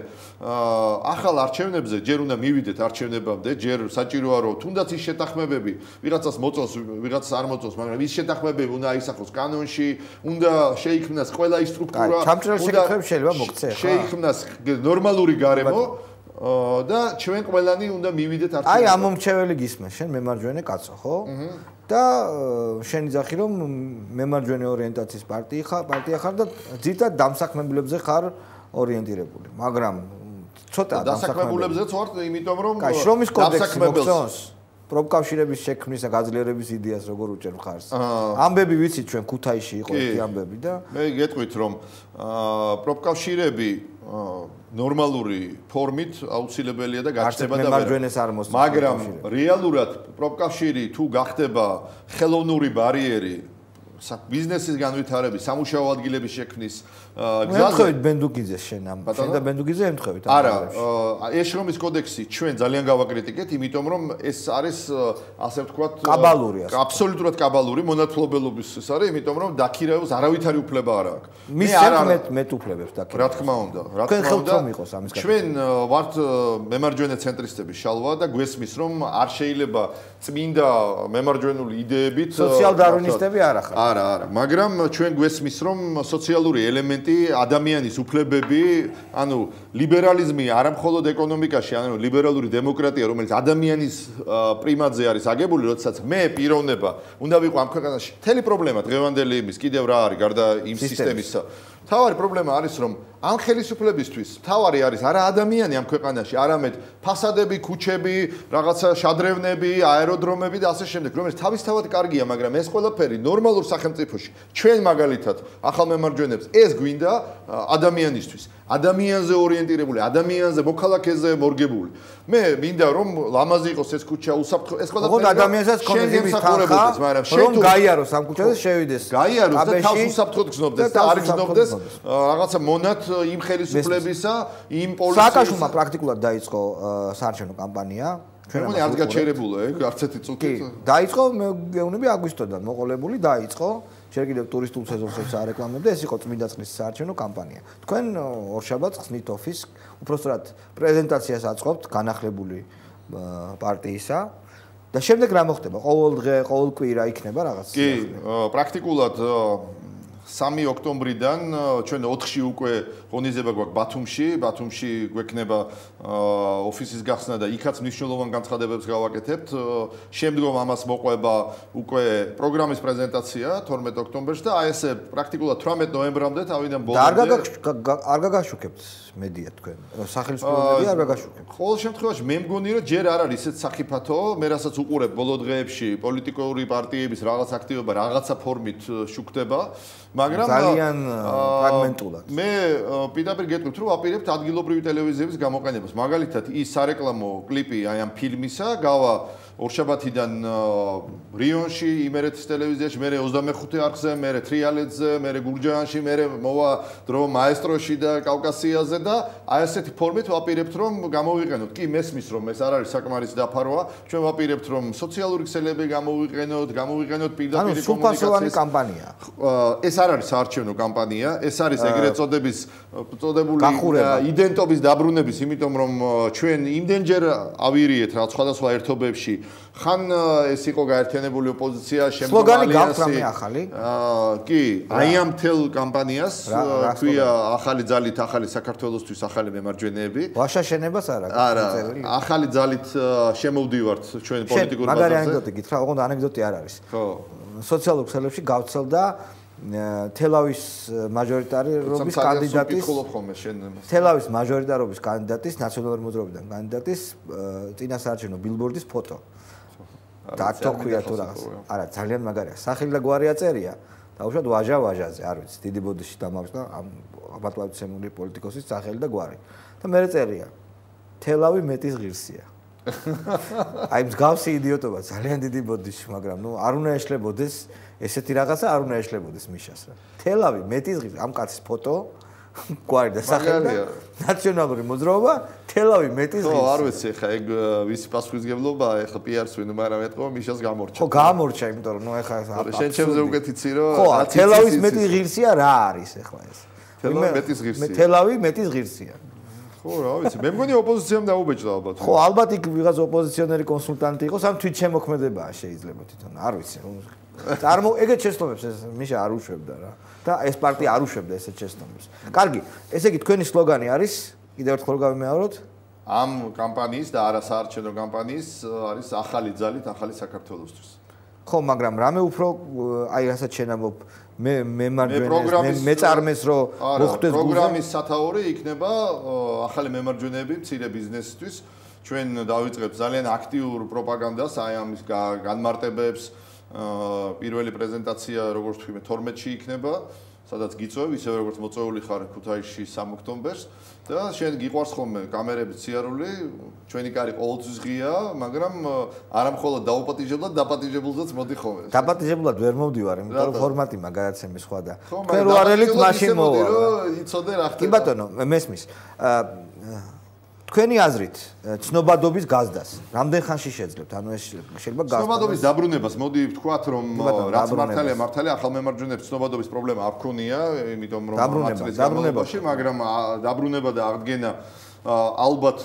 ახალ არჩევნებზე ჯერ უნდა მივიდეთ არჩევნებამდე, ჯერ საჭიროა რომ თუნდაც ის შეთანხმებები ვიღაცას მოწონს, ვიღაცას არ მოწონს, მაგრამ ის შეთანხმებები უნდა აისახოს კანონში, უნდა შეიქმნას ყველა ის სტრუქტურა, უნდა შეიძლება მოქცე, ხა? შეიქმნას ნორმალური გარემო და ჩვენ ყველანი უნდა მივიდეთ არჩევნებამდე. აი ამ მომრჩეველი გისმე, შენ მემარჯვენე კაცო, ხო? და შენ იძახი რომ მემარჯვენე ორიენტაციის პარტია ხარ, პარტია ხარ და ძირითადად დამსაქმებლებზე ხარ ორიენტირებული, მაგრამ ცოტა დასაქმებულებზეც ვარ, იმიტომ რომ კაი, შრომის კოდექსი მოგწონს პროფკავშირების შექმნის და გაძლიერების იდეას როგორ უჭერ მხარს. ამბები ვიცით ჩვენ ქუთაისში იყო ერთი ამბები და მე გეტყვით რომ პროფკავშირები ნორმალური ფორმით აუცილებელია და გაჩნდება და მემარჯვენეს არ მოსწონს. მაგრამ რეალურად პროფკავშირი თუ გახდება ხელოვნური ბარიერი ბიზნესის განვითარების, სამუშაო ადგილების შექმნის გზაზე. ემთხვევით ბენდუგიძეს შენ ამ შენ და ბენდუგიძე ემთხვევით. არა, ეს შრომის კოდექსი ჩვენ ძალიან გავაკრიტიკეთ, იმიტომ რომ ეს არის ასე ვთქვათ, კაბალური ასე. აბსოლუტურად კაბალური მონათლობელობის ეს არის, იმიტომ რომ დაქირავებს არავითარი უფლება არ აქვს. მე არ მეტ მეტ უფლებებს დაქირავებს. რა თქმა უნდა, რა თქმა უნდა. ჩვენ ვართ მემარჯვენე ცენტრისტები შალვა და გვესმის რომ არ შეიძლება წმინდა მემარჯვენული იდეებით სოციალ-დარვინისტები არ ახარ. არა, არა, მაგრამ ჩვენ გვესმის რომ სოციალური ელემენტი ადამიანის უფლებები, ანუ ლიბერალიზმი არა მხოლოდ ეკონომიკაში, ანუ ლიბერალური დემოკრატია, რომელიც ადამიანის პრიმატზე არის აგებული, როდესაც მე პიროვნება უნდა ვიყო ამ ქვეყანაში. მთელი პრობლემა დღევანდელი იმის კიდევ რა არის, გარდა იმ სისტემისა. თავარი პრობლემა არის, რომ ამ ხელისუფლებისთვის თავარი არის არა ადამიანი ამ ქვეყანაში, არამედ ფასადები, ქუჩები, რაღაცა შადრევნები, აეროდრომები და ასე შემდეგ, რომელიც თავისთავად კარგია, მაგრამ ეს ყველაფერი ნორმალურ სახელმწიფოში, ჩვენ მაგალითად ახალ მემარჯვენეებს ეს გვინდა ადამიანისთვის, ადამიანზე ორიენტირებული, ადამიანზე, მოქალაქეზე მორგებული. მე მინდა რომ ლამაზი იყოს ეს ქუჩა, უსაფრთხო, ეს ყველაფერი. ოღონდ ადამიანსაც კონდეს იმის თანხა, მაგრამ რომ გაიაროს ამ ქუჩაზე შევიდეს. გაიაროს და თავს უსაფრთხოდ გზნობდეს და არ გზნობდეს რაღაცა მონად იმ ხელისუფლებისა, იმ პოლიციის. სააკაშვილმა პრაქტიკულად დაიწყო საარჩევნო კამპანია. ჩვენ მგონი არც გაჩერებულა, ეგ არც ერთი წუთით. დაიწყო, მე გეუბნები აგვისტოდან მოყოლებული დაიწყო. შენ კიდევ ტურისტულ სეზონსაც არეკლამებდა, ეს იყო წმინდა წყლის საარჩევნო კამპანია. თქვენ ორშაბათს ხსნით ოფისს, უпростоრად პრეზენტაციას აწყობთ განახლებული პარტიისა და შემდეგ რა მოხდება? ყოველ დღე, ყოველ კვირა იქნება რაღაც? კი, პრაქტიკულად სამი ოქტომბრიდან ჩვენ ოთხში უკვე ღონისძიება გვაქვს ბათუმში, ბათუმში გვექნება ოფისის გახსნა და იქაც მნიშვნელოვან განცხადებებს გავაკეთებთ. შემდგომ ამას მოყვება უკვე პროგრამის პრეზენტაცია თორმეტ ოქტომბერში და აი ესე პრაქტიკულად თვრამეტ ნოემბრამდე თავიდან ბოლომდე არ გაგაშუქებთ მედია თქვენ. სახელმწიფო მედია არ გაგაშუქებთ. ყოველ შემთხვევაში მე მგონი რომ ჯერ არ არის ისეთ საფრთხო, მე რასაც უყურებ ბოლო დღეებში პოლიტიკური პარტიების რაღაც აქტივობა რაღაცა ფორმით შუქდება. მაგრამ ძალიან ფრაგმენტულად. მე პირდაპირ გეტყვით, რომ ვაპირებთ ადგილობრივი ტელევიზიების გამოყენებას. მაგალითად, ის სარეკლამო კლიპი აი ამ ფილმისა გავა ორშაბათიდან რიონში, იმერეთის ტელევიზიაში, მე ოცდამეხუთე არხზე, მე თრიალეთზე, მე გურჯაანში, მე მოვა დრო მაესტროში და კავკასიაზე და აი ესეთი ფორმით ვაპირებთ, რომ გამოვიყენოთ. კი, მესმის, რომ ეს არ არის საკმარისი დაფარვა. ჩვენ ვაპირებთ, რომ სოციალური ქსელები გამოვიყენოთ, გამოვიყენოთ პირდაპირ კომუნიკაციის. ანუ სრულფასოვანი კამპანია. ეს არ არის საარჩევნო კამპანია, ეს არის ეგრეთ წოდების წოდებული იდენტობის დაბრუნების, იმიტომ რომ ჩვენ იმდენჯერ ავირიეთ რა სხვადასხვა ერთობებში ხან ეს იყო გაერთიანებული ოპოზიცია, შემდგომ ალიანსი. სლოგანი გაქვთ რამე ახალი? აა, კი, აი ამ თელ კამპანიას ქვია ახალი ძალით, ახალი საქართველოსთვის, ახალი მემარჯვენეები. ვაშა შენებას არა? არა, ახალი ძალით შემოვდივართ ჩვენ პოლიტიკურ ბაზარზე. მაგარი ანეკდოტი გითხრა, ოღონდ ანეკდოტი არ არის. ხო. სოციალურ ქსელებში გავცელდა თელავის მაჟორიტარობის კანდიდატის თელავის მაჟორიტარობის კანდიდატის ნაციონალური მოძრაობიდან კანდიდატის წინასაარჩევნო ბილბორდის ფოტო. და აქ თქვია თუ რაღაც. არა, ძალიან მაგარია. სახელი და გვარი აწერია. დაუშვათ ვაჟა ვაჟაზე, არ ვიცი, დიდი ბოდიში დამავსდა ამ აბატლავიცემული პოლიტიკოსის სახელი და გვარი. და მე წერია. თელავი მეტის ღირსია. აი მსგავსი იდიოტობა ძალიან დიდი ბოდიში, მაგრამ ნუ არ უნდა ეშლებოდეს ესეთი რაღაცა არ უნდა ეშლებოდეს მიშას რა. თელავი მეტის ღირსია, ამ კაცის ფოტო გვარი და სახელი ნაციონალური მოძრაობა თელავი მეტის ღირსია. ხო, არ ვიცი ხა ეგ ვისი პასუხისგებლობა, ეხლა პი-არს ვინ მაგრამ ეთქო მიშას გამორჩა. ხო, გამორჩა, იმიტომ რომ ნუ ეხლა შენ ჩემზე უკეთ იცი რომ ხო, თელავის მეტის ღირსია რა არის ეხლა ეს? თელავი მეტის ღირსია. თელავი მეტის ღირსია. ხო, რა ვიცი, მე მგონი ოპოზიციამ დაუბეჭდა ალბათ. ხო, ალბათ იქ ვიღაც ოპოზიციონერი კონსულტანტი იყოს, ამ თვითშემოქმედებაა შეიძლება თვითონ, არ ვიცი. წარმო ეგეთ შეცდომებს ეს მიშა არ უშვებდა რა. და ეს პარტია არ უშვებდა ესეთ შეცდომებს. კარგი, ესე იგი თქვენი სლოგანი არის, კიდევ ერთხელ გავიმეოროთ, ამ კამპანიის და არა საარჩევნო კამპანიის არის ახალი ძალით ახალი საქართველოსთვის. ხო, მაგრამ რამე უფრო აი რასაც შენამობ მე მემარჯვენეს მეწარმეს რო მოხდეს პროგრამის სათაური იქნება ახალი მემარჯვენეები მცირე ბიზნესისთვის ჩვენ დავიწყებთ ძალიან აქტიურ პროპაგანდას აი ამის განმარტებებს პირველი პრეზენტაცია როგორც თქვი მე თორმეტში იქნება სადაც გიწევ ისევე როგორც მოწვეული ხარ ქუთაისში სამ ოქტომბერს და შენ გიყვარს ხოლმე კამერების ციარული ჩვენი კარი ყოველთვის ღია მაგრამ არა მხოლოდ დაუპატიჟებლად დაპატიჟებულზეც მოდი ხოლმე დაპატიჟებლად ვერ მოვდივარ იმიტომ რომ ფორმატი მაგაცემი სხვა და თქვენ რო არელით მაშინ მოვა იცოდე რა ხდება კი ბატონო მესმის თქვენი აზრით ცნობადობის გაზდას რამდენ ხანში შეძლებთ ანუ ეს შეიძლება გაზდა ცნობადობის დაბრუნებას მოდი ვთქვათ რომ რაც მართალია მართალია ახალ მემარჯვენეებს ცნობადობის პრობლემა არ ქონია იმიტომ რომ მართლის განმავლობაში მაგრამ დაბრუნება და აღდგენა ალბათ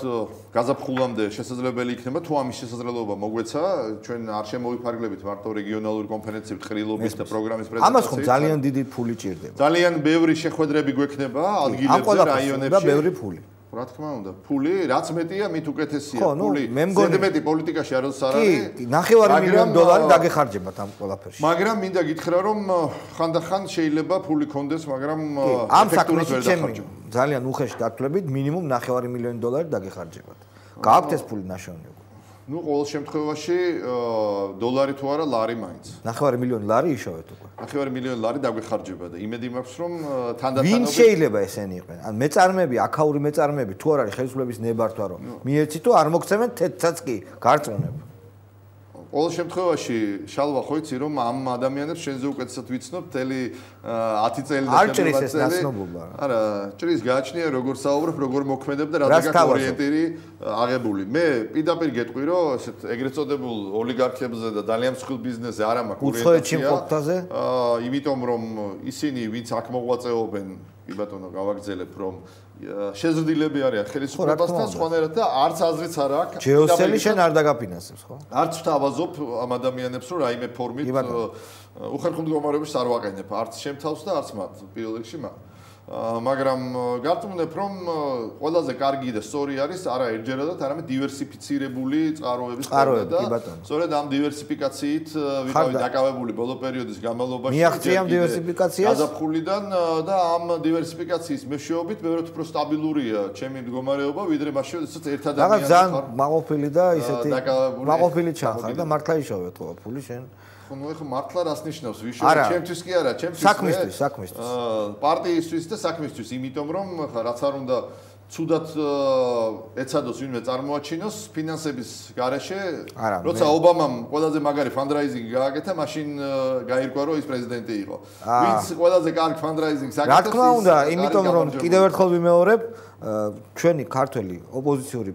გაზაფხულამდე შესაძლებელი იქნება თუ ამის შესაძლებლობა მოგვეცა ჩვენ არ შემოვიფარგლებით მარტო რეგიონალური კონფერენციებით ყრილობის და პროგრამის პრეზენტაციით ამას ხომ ძალიან დიდი ფული ჭირდება ძალიან ბევრი შეხვედრები გვექნება ადგილებზე რაიონებში და ბევრი ფული რა თქმა უნდა, ფული, რაც მეტია, მით უკეთესია. ფული, ზედმეტი პოლიტიკაში არ არის არ არის. კი, ნახევარი მილიონი დოლარი დაგეხარჯებათ ამ ყველაფერში. მაგრამ მინდა გითხრა, რომ ხანდახან შეიძლება ფული კონდეს, მაგრამ ამ საქმეში ჩემი ძალიან უხეში გათვლებით, მინიმუმ ნახევარი მილიონი დოლარი დაგეხარჯებათ. გააქვთ ეს ფული ნაშოვნი? ну ყოველ შემთხვევაში დოლარი თუ არა ლარი მაინც. ნახევარი მილიონი ლარი იშოვეთ უკვე. ნახევარი მილიონი ლარი დაგვეხარჯება და იმედი მაქვს რომ თანდათანობით ვინ შეიძლება ესენი იყვნენ? ან მეწარმეები, აქაური მეწარმეები თუ არ არის ხელისუფლების ნებართვა რომ მიეცით თუ არ მოგცემენ თეთრსაც კი გარწმუნებ. ყოველ შემთხვევაში შალვა ხო იცი რომ ამ ადამიანებს შენზე უკეთესად ვიცნობ მთელი ათი წელი და არ ჭრის ეს ნაცნობობა. არა, ჭრის გააჩნია როგორ საუბრობ, როგორ მოქმედებ და რა გაქვს ორიენტირი აღებული. მე პირდაპირ გეტყვი რომ ესეთ ეგრეთ წოდებულ ოლიგარქებზე და ძალიან მსხვილ ბიზნესზე არ მაქვს ორიენტაცია. აა, იმიტომ რომ ისინი ვინც აქ მოღვაწეობენ, კი ბატონო, გავაგრძელებ რომ შეზრდილები არიან ხელისუფლებასთან სხვანაირად და არც აზრიც არ აქვს. ჯეოსელი შენ არ დაგაფინანსებს, ხო? არც ვთავაზობ ამ ადამიანებს რომ რაიმე ფორმით უხერხემლო მდგომარეობის არ ვაყენებ, არც შემთავს და არც მათ პირველ რიგში მათ. მაგრამ გარწმუნებ რომ ყველაზე კარგი და სწორი არის არა ერთჯერადად, арამედ დივერსიფიცირებული წყაროების წყაროები და კი ბატონო. სწორედ ამ დივერსიფიკაციით ვიყავი დაკავებული ბოლო პერიოდის განმავლობაში. მიაღწია ამ დივერსიფიკაციას? გაზაფხულიდან და ამ დივერსიფიკაციის მეშვეობით ბევრად უფრო სტაბილურია ჩემი მდგომარეობა, ვიდრე მაშინ როდესაც ერთ ადამიანს ხარ. ძალიან მაყოფილი და ისეთი მაყოფილი ჩახარ და მართლა იშოვეთ ყო ფული შენ. ну ეხლა მართლა რას ნიშნავს ვიშოვე ჩემთვის კი არა ჩემთვის საქმისთვის საქმისთვის პარტიისთვის და საქმისთვის იმიტომ რომ ხა რაც არ უნდა ცუდად ეცადოს ვინმე წარმოაჩინოს ფინანსების გარეშე როცა ობამამ ყველაზე მაგარი ფანდრაიზინგი გააკეთა მაშინ გაირკვა რომ ის პრეზიდენტი იყო ვინც ყველაზე კარგ ფანდრაიზინგს აკეთებს რა თქმა უნდა იმიტომ რომ კიდევ ერთხელ ვიმეორებ ჩვენი ქართველი ოპოზიციური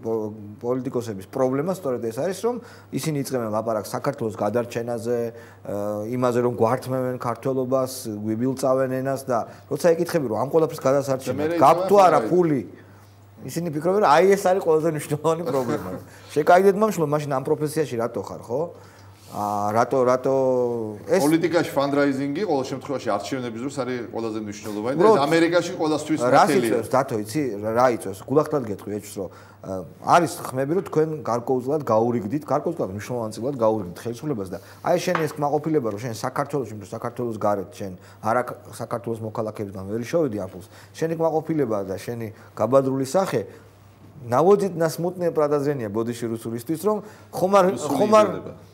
პოლიტიკოსების პრობლემა სწორედ ეს არის რომ ისინი იწყებენ ლაპარაკს საქართველოს გადარჩენაზე იმაზე რომ გვართმევენ ქართველობას გვიბილწავენ ენას და როცა ეკითხები რომ ამ ყველაფრის გადასარჩენად გაქვთ თუ არა ფული ისინი ფიქრობენ რომ აი ეს არის ყველაზე მნიშვნელოვანი პრობლემა შეკაიდეთ მაშინ მაშინ ამ პროფესიაში რატო ხარ ხო აა რატო რატო ეს პოლიტიკაში ფანდრაიზინგი ყოველ შემთხვევაში არჩევნების დროს არის ყველაზე მნიშვნელოვანი და ეს ამერიკაში ყოველთვის ნათელია. რა იწევს დათო იცი რა იწევს გულახდად გეტყვი ეჭვს რომ არის ხმები რომ თქვენ გარკვეულწილად გაურიგდით გარკვეულწილად მნიშვნელოვანწილად გაურიგდით ხელისუფლებას და აი შენ ეს კმაყოფილება რომ შენ საქართველოში რომ საქართველოს გარეთ შენ არა საქართველოს მოქალაქეებთან ვერ შევედი აფულს შენი კმაყოფილება და შენი გაბადრული სახე наводит на смутное подозрение бодиში რუსულისთვის რომ ხომარ ხომარ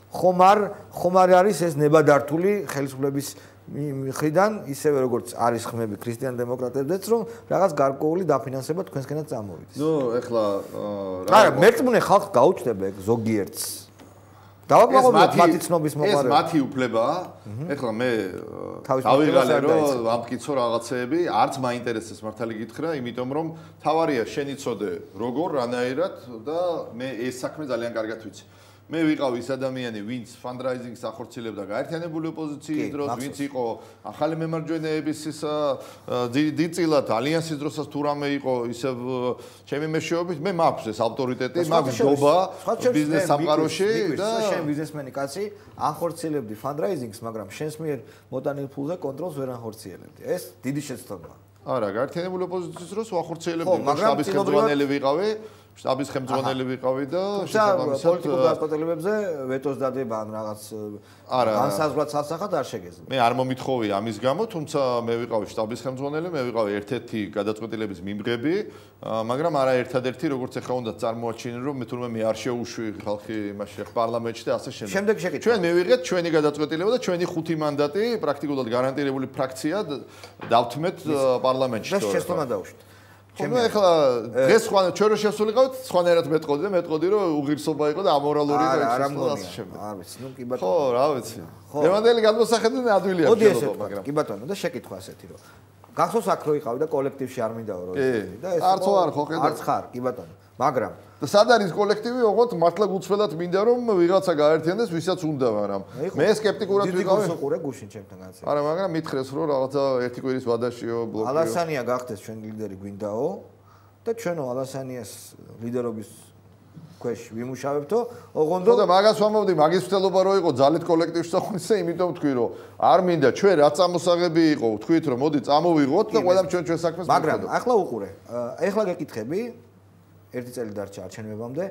ხომარ ხომარი არის ეს ნებადართული ხელისუფლების მხრიდან ისევე როგორც არის ხმები ქრისტიან დემოკრატებზეც რომ რაღაც გარკვეული დაფინანსება თქვენსკენაც წამოვიდეს. ნუ ეხლა რა მერწმუნე ხალხს გაუჩნდება ეგ ზოგიერთს. დავაკმაყოფილოთ მათი ცნობის მოყარება. ეს მათი უფლებაა. ეხლა მე დავიღალე რომ ამტკიცო რაღაცეები, არც მაინტერესებს მართალი გითხრა, იმიტომ რომ თავარია შენ იცოდე როგორ რანაირად და მე ეს საქმე ძალიან კარგად ვიცი. მე ვიყავ ის ადამიანი, ვინც ფანდრაიზინგს ახორციელებდა გაერთიანებული ოპოზიციის დროს, ვინც იყო ახალი მემარჯვენეების ის დიდწილად ალიანსის დროსაც თუ რამე იყო ისევ ჩემი მეშვეობით, მე მაქვს ეს ავტორიტეტი, მაქვს ჯობა ბიზნეს სამყაროში და შენ ბიზნესმენი კაცი ახორციელებდი ფანდრაიზინგს, მაგრამ შენს მიერ მოტანილ ფულზე კონტროლს ვერ ახორციელებდი. ეს დიდი შეცდომაა. არა, გაერთიანებული ოპოზიციის დროს ვახორციელებდი, შტაბის ხელმძღვანელი ვიყავი. შტაბის ხელმძღვანელი ვიყავი და შესაბამისად პოლიტიკურ გადაწყვეტილებებზე ვეტოს დადება ან რაღაც განსაზღვრად სასახად არ შეგეძლო. მე არ მომითხოვია ამის გამო, თუმცა მე ვიყავი შტაბის ხელმძღვანელი, მე ვიყავი ერთ-ერთი გადაწყვეტილების მიმღები, მაგრამ არა ერთადერთი, როგორც ახლა უნდა წარმოაჩინე, რომ მე თურმე მე არ შეუშვი ხალხი იმაში პარლამენტში და ასე შემდეგ. შემდეგ შეკითხვა. ჩვენ მივიღეთ ჩვენი გადაწყვეტილება და ჩვენი ხუთი მანდატი პრაქტიკულად გარანტირებული ფრაქცია დავთმეთ პარლამენტში. და შეცდომა დაუშვით. ჩემი ახლა დღეს სხვა ჩვენ რო შესულიყავით სხვანაირად მეტყოდი და მეტყოდი რომ უღირსობა იყო და ამორალური და არა ასე შემდეგ. არ ვიცი, ნუ კი ბატონო. ხო, რა ვიცი. დევანდელი გადმოსახედი ადვილია შეიძლება, მაგრამ კი ბატონო და შეკითხვა ასეთი რომ გახსოვს აქ რო იყავი და კოლექტივში არ მინდაო რომ და ეს არც არ ხო ხედავ. არც ხარ, კი ბატონო. მაგრამ და სად არის კოლექტივი, ოღონდ მართლა გუცვლად მინდა რომ ვიღაცა გაერთიანდეს, ვისაც უნდა, მაგრამ მე სკეპტიკურად ვიყავი. დიდი გულსუყურე გუშინ ჩემთან განცე. არა, მაგრამ მითხრეს რომ რაღაცა ერთი კვირის ვადაშიო ბლოკიო. ალასანია გახდეს ჩვენ ლიდერი გვინდაო და ჩვენო ალასანიას ლიდერობის ქვეშ ვიმუშავებთო, ოღონდ და მაგას ვამბობდი, მაგის მცდელობა რო იყო ძალით კოლექტივში საქმისა, იმიტომ თქვი რომ არ მინდა ჩვენ რა წამოსაღები იყო, თქვით რომ მოდი წამოვიღოთ და ყველამ ჩვენ ჩვენ საქმეს მოვხდეთ. მაგრამ ახლა უყურე, ახლა გეკითხები ერთი წელი დარჩა არჩევნებამდე.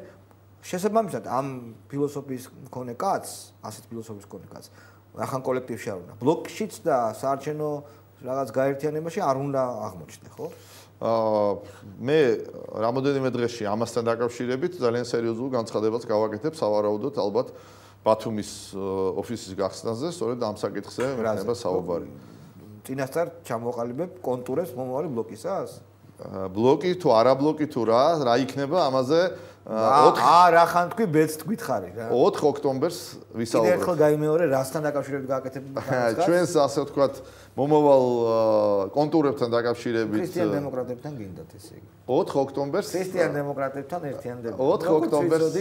შესაბამისად ამ ფილოსოფიის მქონე კაცს, ასეთ ფილოსოფიის მქონე კაცს, ახან კოლექტივში არ უნდა. ბლოკშიც და საარჩევნო რაღაც გაერთიანებაში არ უნდა აღმოჩნდე, ხო? აა მე რამოდენიმე დღეში ამასთან დაკავშირებით ძალიან სერიოზულ განცხადებას გავაკეთებ სავარაუდოდ ალბათ ბათუმის ოფისის გახსნაზე, სწორედ ამ საკითხზე მექნება საუბარი. წინასწარ ჩამოყალიბებ კონტურებს მომავალი ბლოკისას? ბლოკი თუ არა ბლოკი თუ რა, რა იქნება ამაზე ოთხ არა ხან თქვი ბედს თქვითხარი რა. ოთხ ოქტომბერს ვისაუბრებ. კიდევ ერთხელ გაიმეორე რასთან დაკავშირებით გააკეთებ განცხადებას? ჩვენს ასე ვთქვათ მომავალ კონტურებთან დაკავშირებით ქრისტიან დემოკრატებთან გინდათ ესე იგი. ოთხ ოქტომბერს ქრისტიან დემოკრატებთან ერთიანდება. ოთხ ოქტომბერს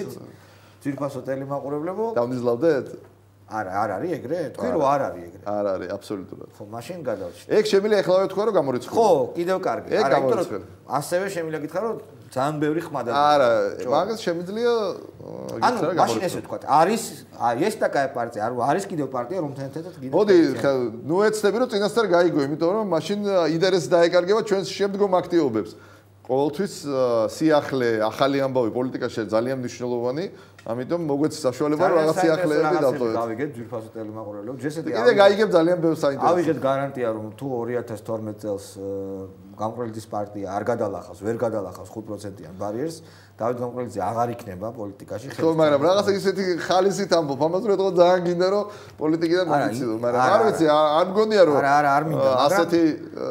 ძირფასო ტელემაყურებლებო დავნიზლავდეთ? არა, არ არის ეგრე? თქვი რომ არ არის ეგრე. არ არის, აბსოლუტურად. ხო, მაშინ გადავშ. ეგ შემიძლია ეხლავე თქვა რომ გამორიცხული. ხო, კიდევ კარგი. არა, იმიტომ რომ ასევე შემიძლია გითხრა რომ ძალიან ბევრი ხმადა. არა, მაგას შემიძლია ანუ მაშინ ესე ვთქვა, არის აი ეს такая პარტია, არ არის კიდევ პარტია რომთან ერთად გინდა. მოდი, ნუ ეცდები რომ წინასწარ გაიგო, იმიტომ რომ მაშინ ინტერესი დაეკარგება ჩვენს შემდგომ აქტივობებს. ყოველთვის სიახლე, ახალი ამბავი პოლიტიკაში ძალიან მნიშვნელოვანი, ამიტომ მოგვეცი საშუალება რომ რაღაც სიახლეები დავტოვოთ. გავიგეთ ძვირფასო ტელემაყურებლებს. ჯესეთი კიდე გაიგებ ძალიან ბევრ საინტერესო. ავიღეთ გარანტია რომ თუ ორი ათას თორმეტ წელს გამყრელის პარტია არ გადალახავს, ვერ გადალახავს ხუთ პროცენტიან ბარიერს, დავით გამყრელიძე აღარ იქნება პოლიტიკაში. ხო, მაგრამ რაღაცა ისეთი ხალისით ამბობ, ამას რო ეთქო ძალიან გინდა რომ პოლიტიკიდან მომიცილო, მაგრამ არ ვიცი, არ მგონია რომ არა, არა, არ მინდა, მაგრამ ასეთი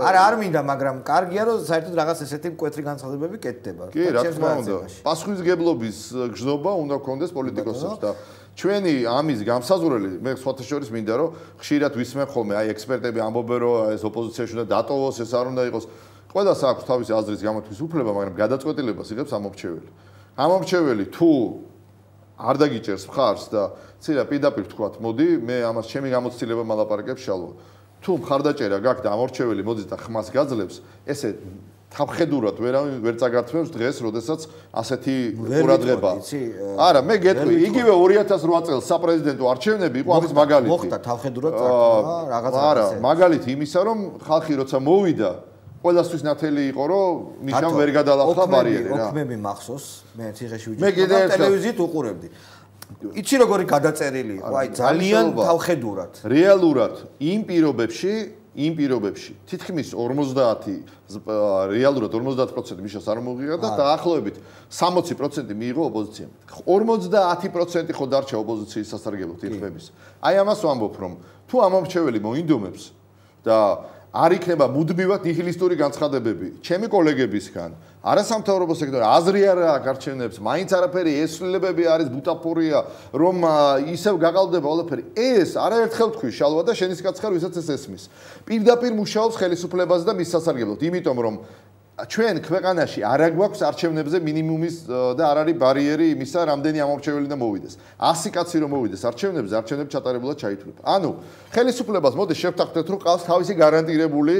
არა, არ მინდა, მაგრამ კარგია რომ საერთოდ რაღაც ესეთი მკვეთრი განცხადებები კეთდება. კი, რა თქმა უნდა. პასუხისგებლობის გზნობა უნდა გქონდეს პოლიტიკოსებს და ჩვენი ამის გამსაზღვრელი მე სხვათა შორის მინდა რომ ხშირად ვისმენ ხოლმე აი ექსპერტები ამბობენ რომ ეს ოპოზიციაში უნდა დატოვოს, ეს არ უნდა იყოს. ყველას აქვს თავისი აზრის გამოთქმის უფლება, მაგრამ გადაწყვეტილებას იღებს ამომრჩეველი. ამომრჩეველი თუ არ დაგიჭერს მხარს და ცირა პირდაპირ ვთქვათ, მოდი, მე ამას ჩემი გამოცდილება მალაპარაკებ შალვა. თუ მხარდაჭერა გაქვს და ამორჩეველი მოდის და ხმას გაძლევს, ესე თავხედურად ვერ ვერ წაგართმევს დღეს, როდესაც ასეთი ყურადღება. არა, მე გეტყვი, იგივე ორი ათას რვა წელს საპრეზიდენტო არჩევნები იყო ამის მაგალითი. მოხდა თავხედურად წაგრძელება რაღაცა. არა, მაგალითი იმისა, რომ ხალხი როცა მოვიდა ყველასთვის ნათელი იყო, რომ ნიშნავ ვერ გადალახა ბარიერი რა. ოქმები მახსოვს, მე ციხეში ვიჯერე, ტელევიზიით უყურებდი. იცი როგორი გადაწერილი იყო, აი ძალიან თავხედურად. რეალურად იმ პირობებში, იმ პირობებში თითქმის ორმოცდაათი რეალურად ორმოცდაათი პროცენტი მიშას არ მოღია და დაახლოებით სამოცი პროცენტი მიიღო ოპოზიციამ. ორმოცდაათი პროცენტი ხო დარჩა ოპოზიციის სასარგებლოდ იღბების. აი ამას ვამბობ, რომ თუ ამომრჩეველი მოინდომებს და არ იქნება მუდმივად ნიჰილისტური განცხადებები ჩემი კოლეგებისგან, არასამთავრობო სექტორი აზრი არ აქვს არჩევნებს, მაინც არაფერი ესვლილებები არის ბუტაფორია, რომ ისევ გაყალბდება ყველაფერი. ეს არაერთხელ თქვი შალვა და შენის კაცხარ ვისაც ეს ესმის. პირდაპირ მუშაობს ხელისუფლებაზე და მის სასარგებლოდ, იმიტომ რომ ჩვენ ქვეყანაში არ აგვაქვს არჩევნებზე მინიმუმის და არ არის ბარიერი იმისა, რამდენი ამომრჩეველი და მოვიდეს. ასი კაცი რომ მოვიდეს არჩევნებზე, არჩევნები ჩატარებულად ჩაითვლება. ანუ ხელისუფლებას მოდი შევთანხმდეთ, რომ ყავს თავისი გარანტირებული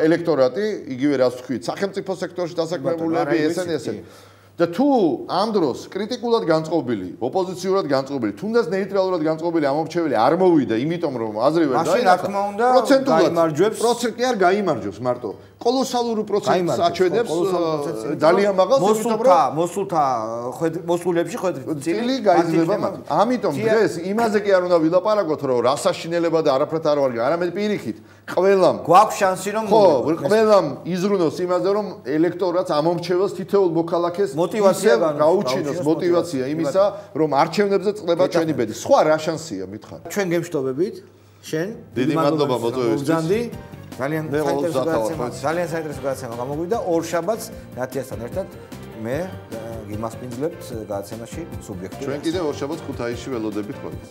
ელექტორატი, იგივე რაც ვთქვით, სახელმწიფო სექტორში დასაქმებულები, ესენი ესენი. და თუ ამ დროს კრიტიკულად განწყობილი, ოპოზიციურად განწყობილი, თუნდაც ნეიტრალურად განწყობილი ამომრჩეველი არ მოვიდა, იმიტომ რომ აზრი ვერ დაინახა, პროცენტულად გაიმარჯვებს. პროცენტი არ გაიმარჯვებს მარტო. კოლოსალური პროცენტს აჩვენებს ძალიან მაღალს, იმიტომ რომ მოსულთა მოსულებში წილი გაიზრდება მათ. ამიტომ დღეს იმაზე კი არ უნდა ვილაპარაკოთ, რომ რასაშინელება და არაფრად არ ვარ, არამედ პირიქით, ყველამ გვაქვს შანსი რომ ხო, ყველამ იზრუნოს იმაზე, რომ ელექტორატს ამომრჩეველს თითოეულ მოქალაქეს მოტივაცია გაუჩინოს მოტივაცია იმისა, რომ არჩევნებზე წლება ჩვენი ბედი. სხვა რა შანსია მითხარ? ჩვენ გემშვიდობებით, შენ დიდი მადლობა მოდოებისთვის. ძალიან საინტერესო გადაცემა, ძალიან საინტერესო გადაცემა გამოგვიდა ორ შაბათს ნათიასთან ერთად. მე გიმასპინძლებთ გადაცემაში სუბიექტი. ჩვენ კიდევ ორ შაბათს ქუთაისში ველოდებით ხოლმე.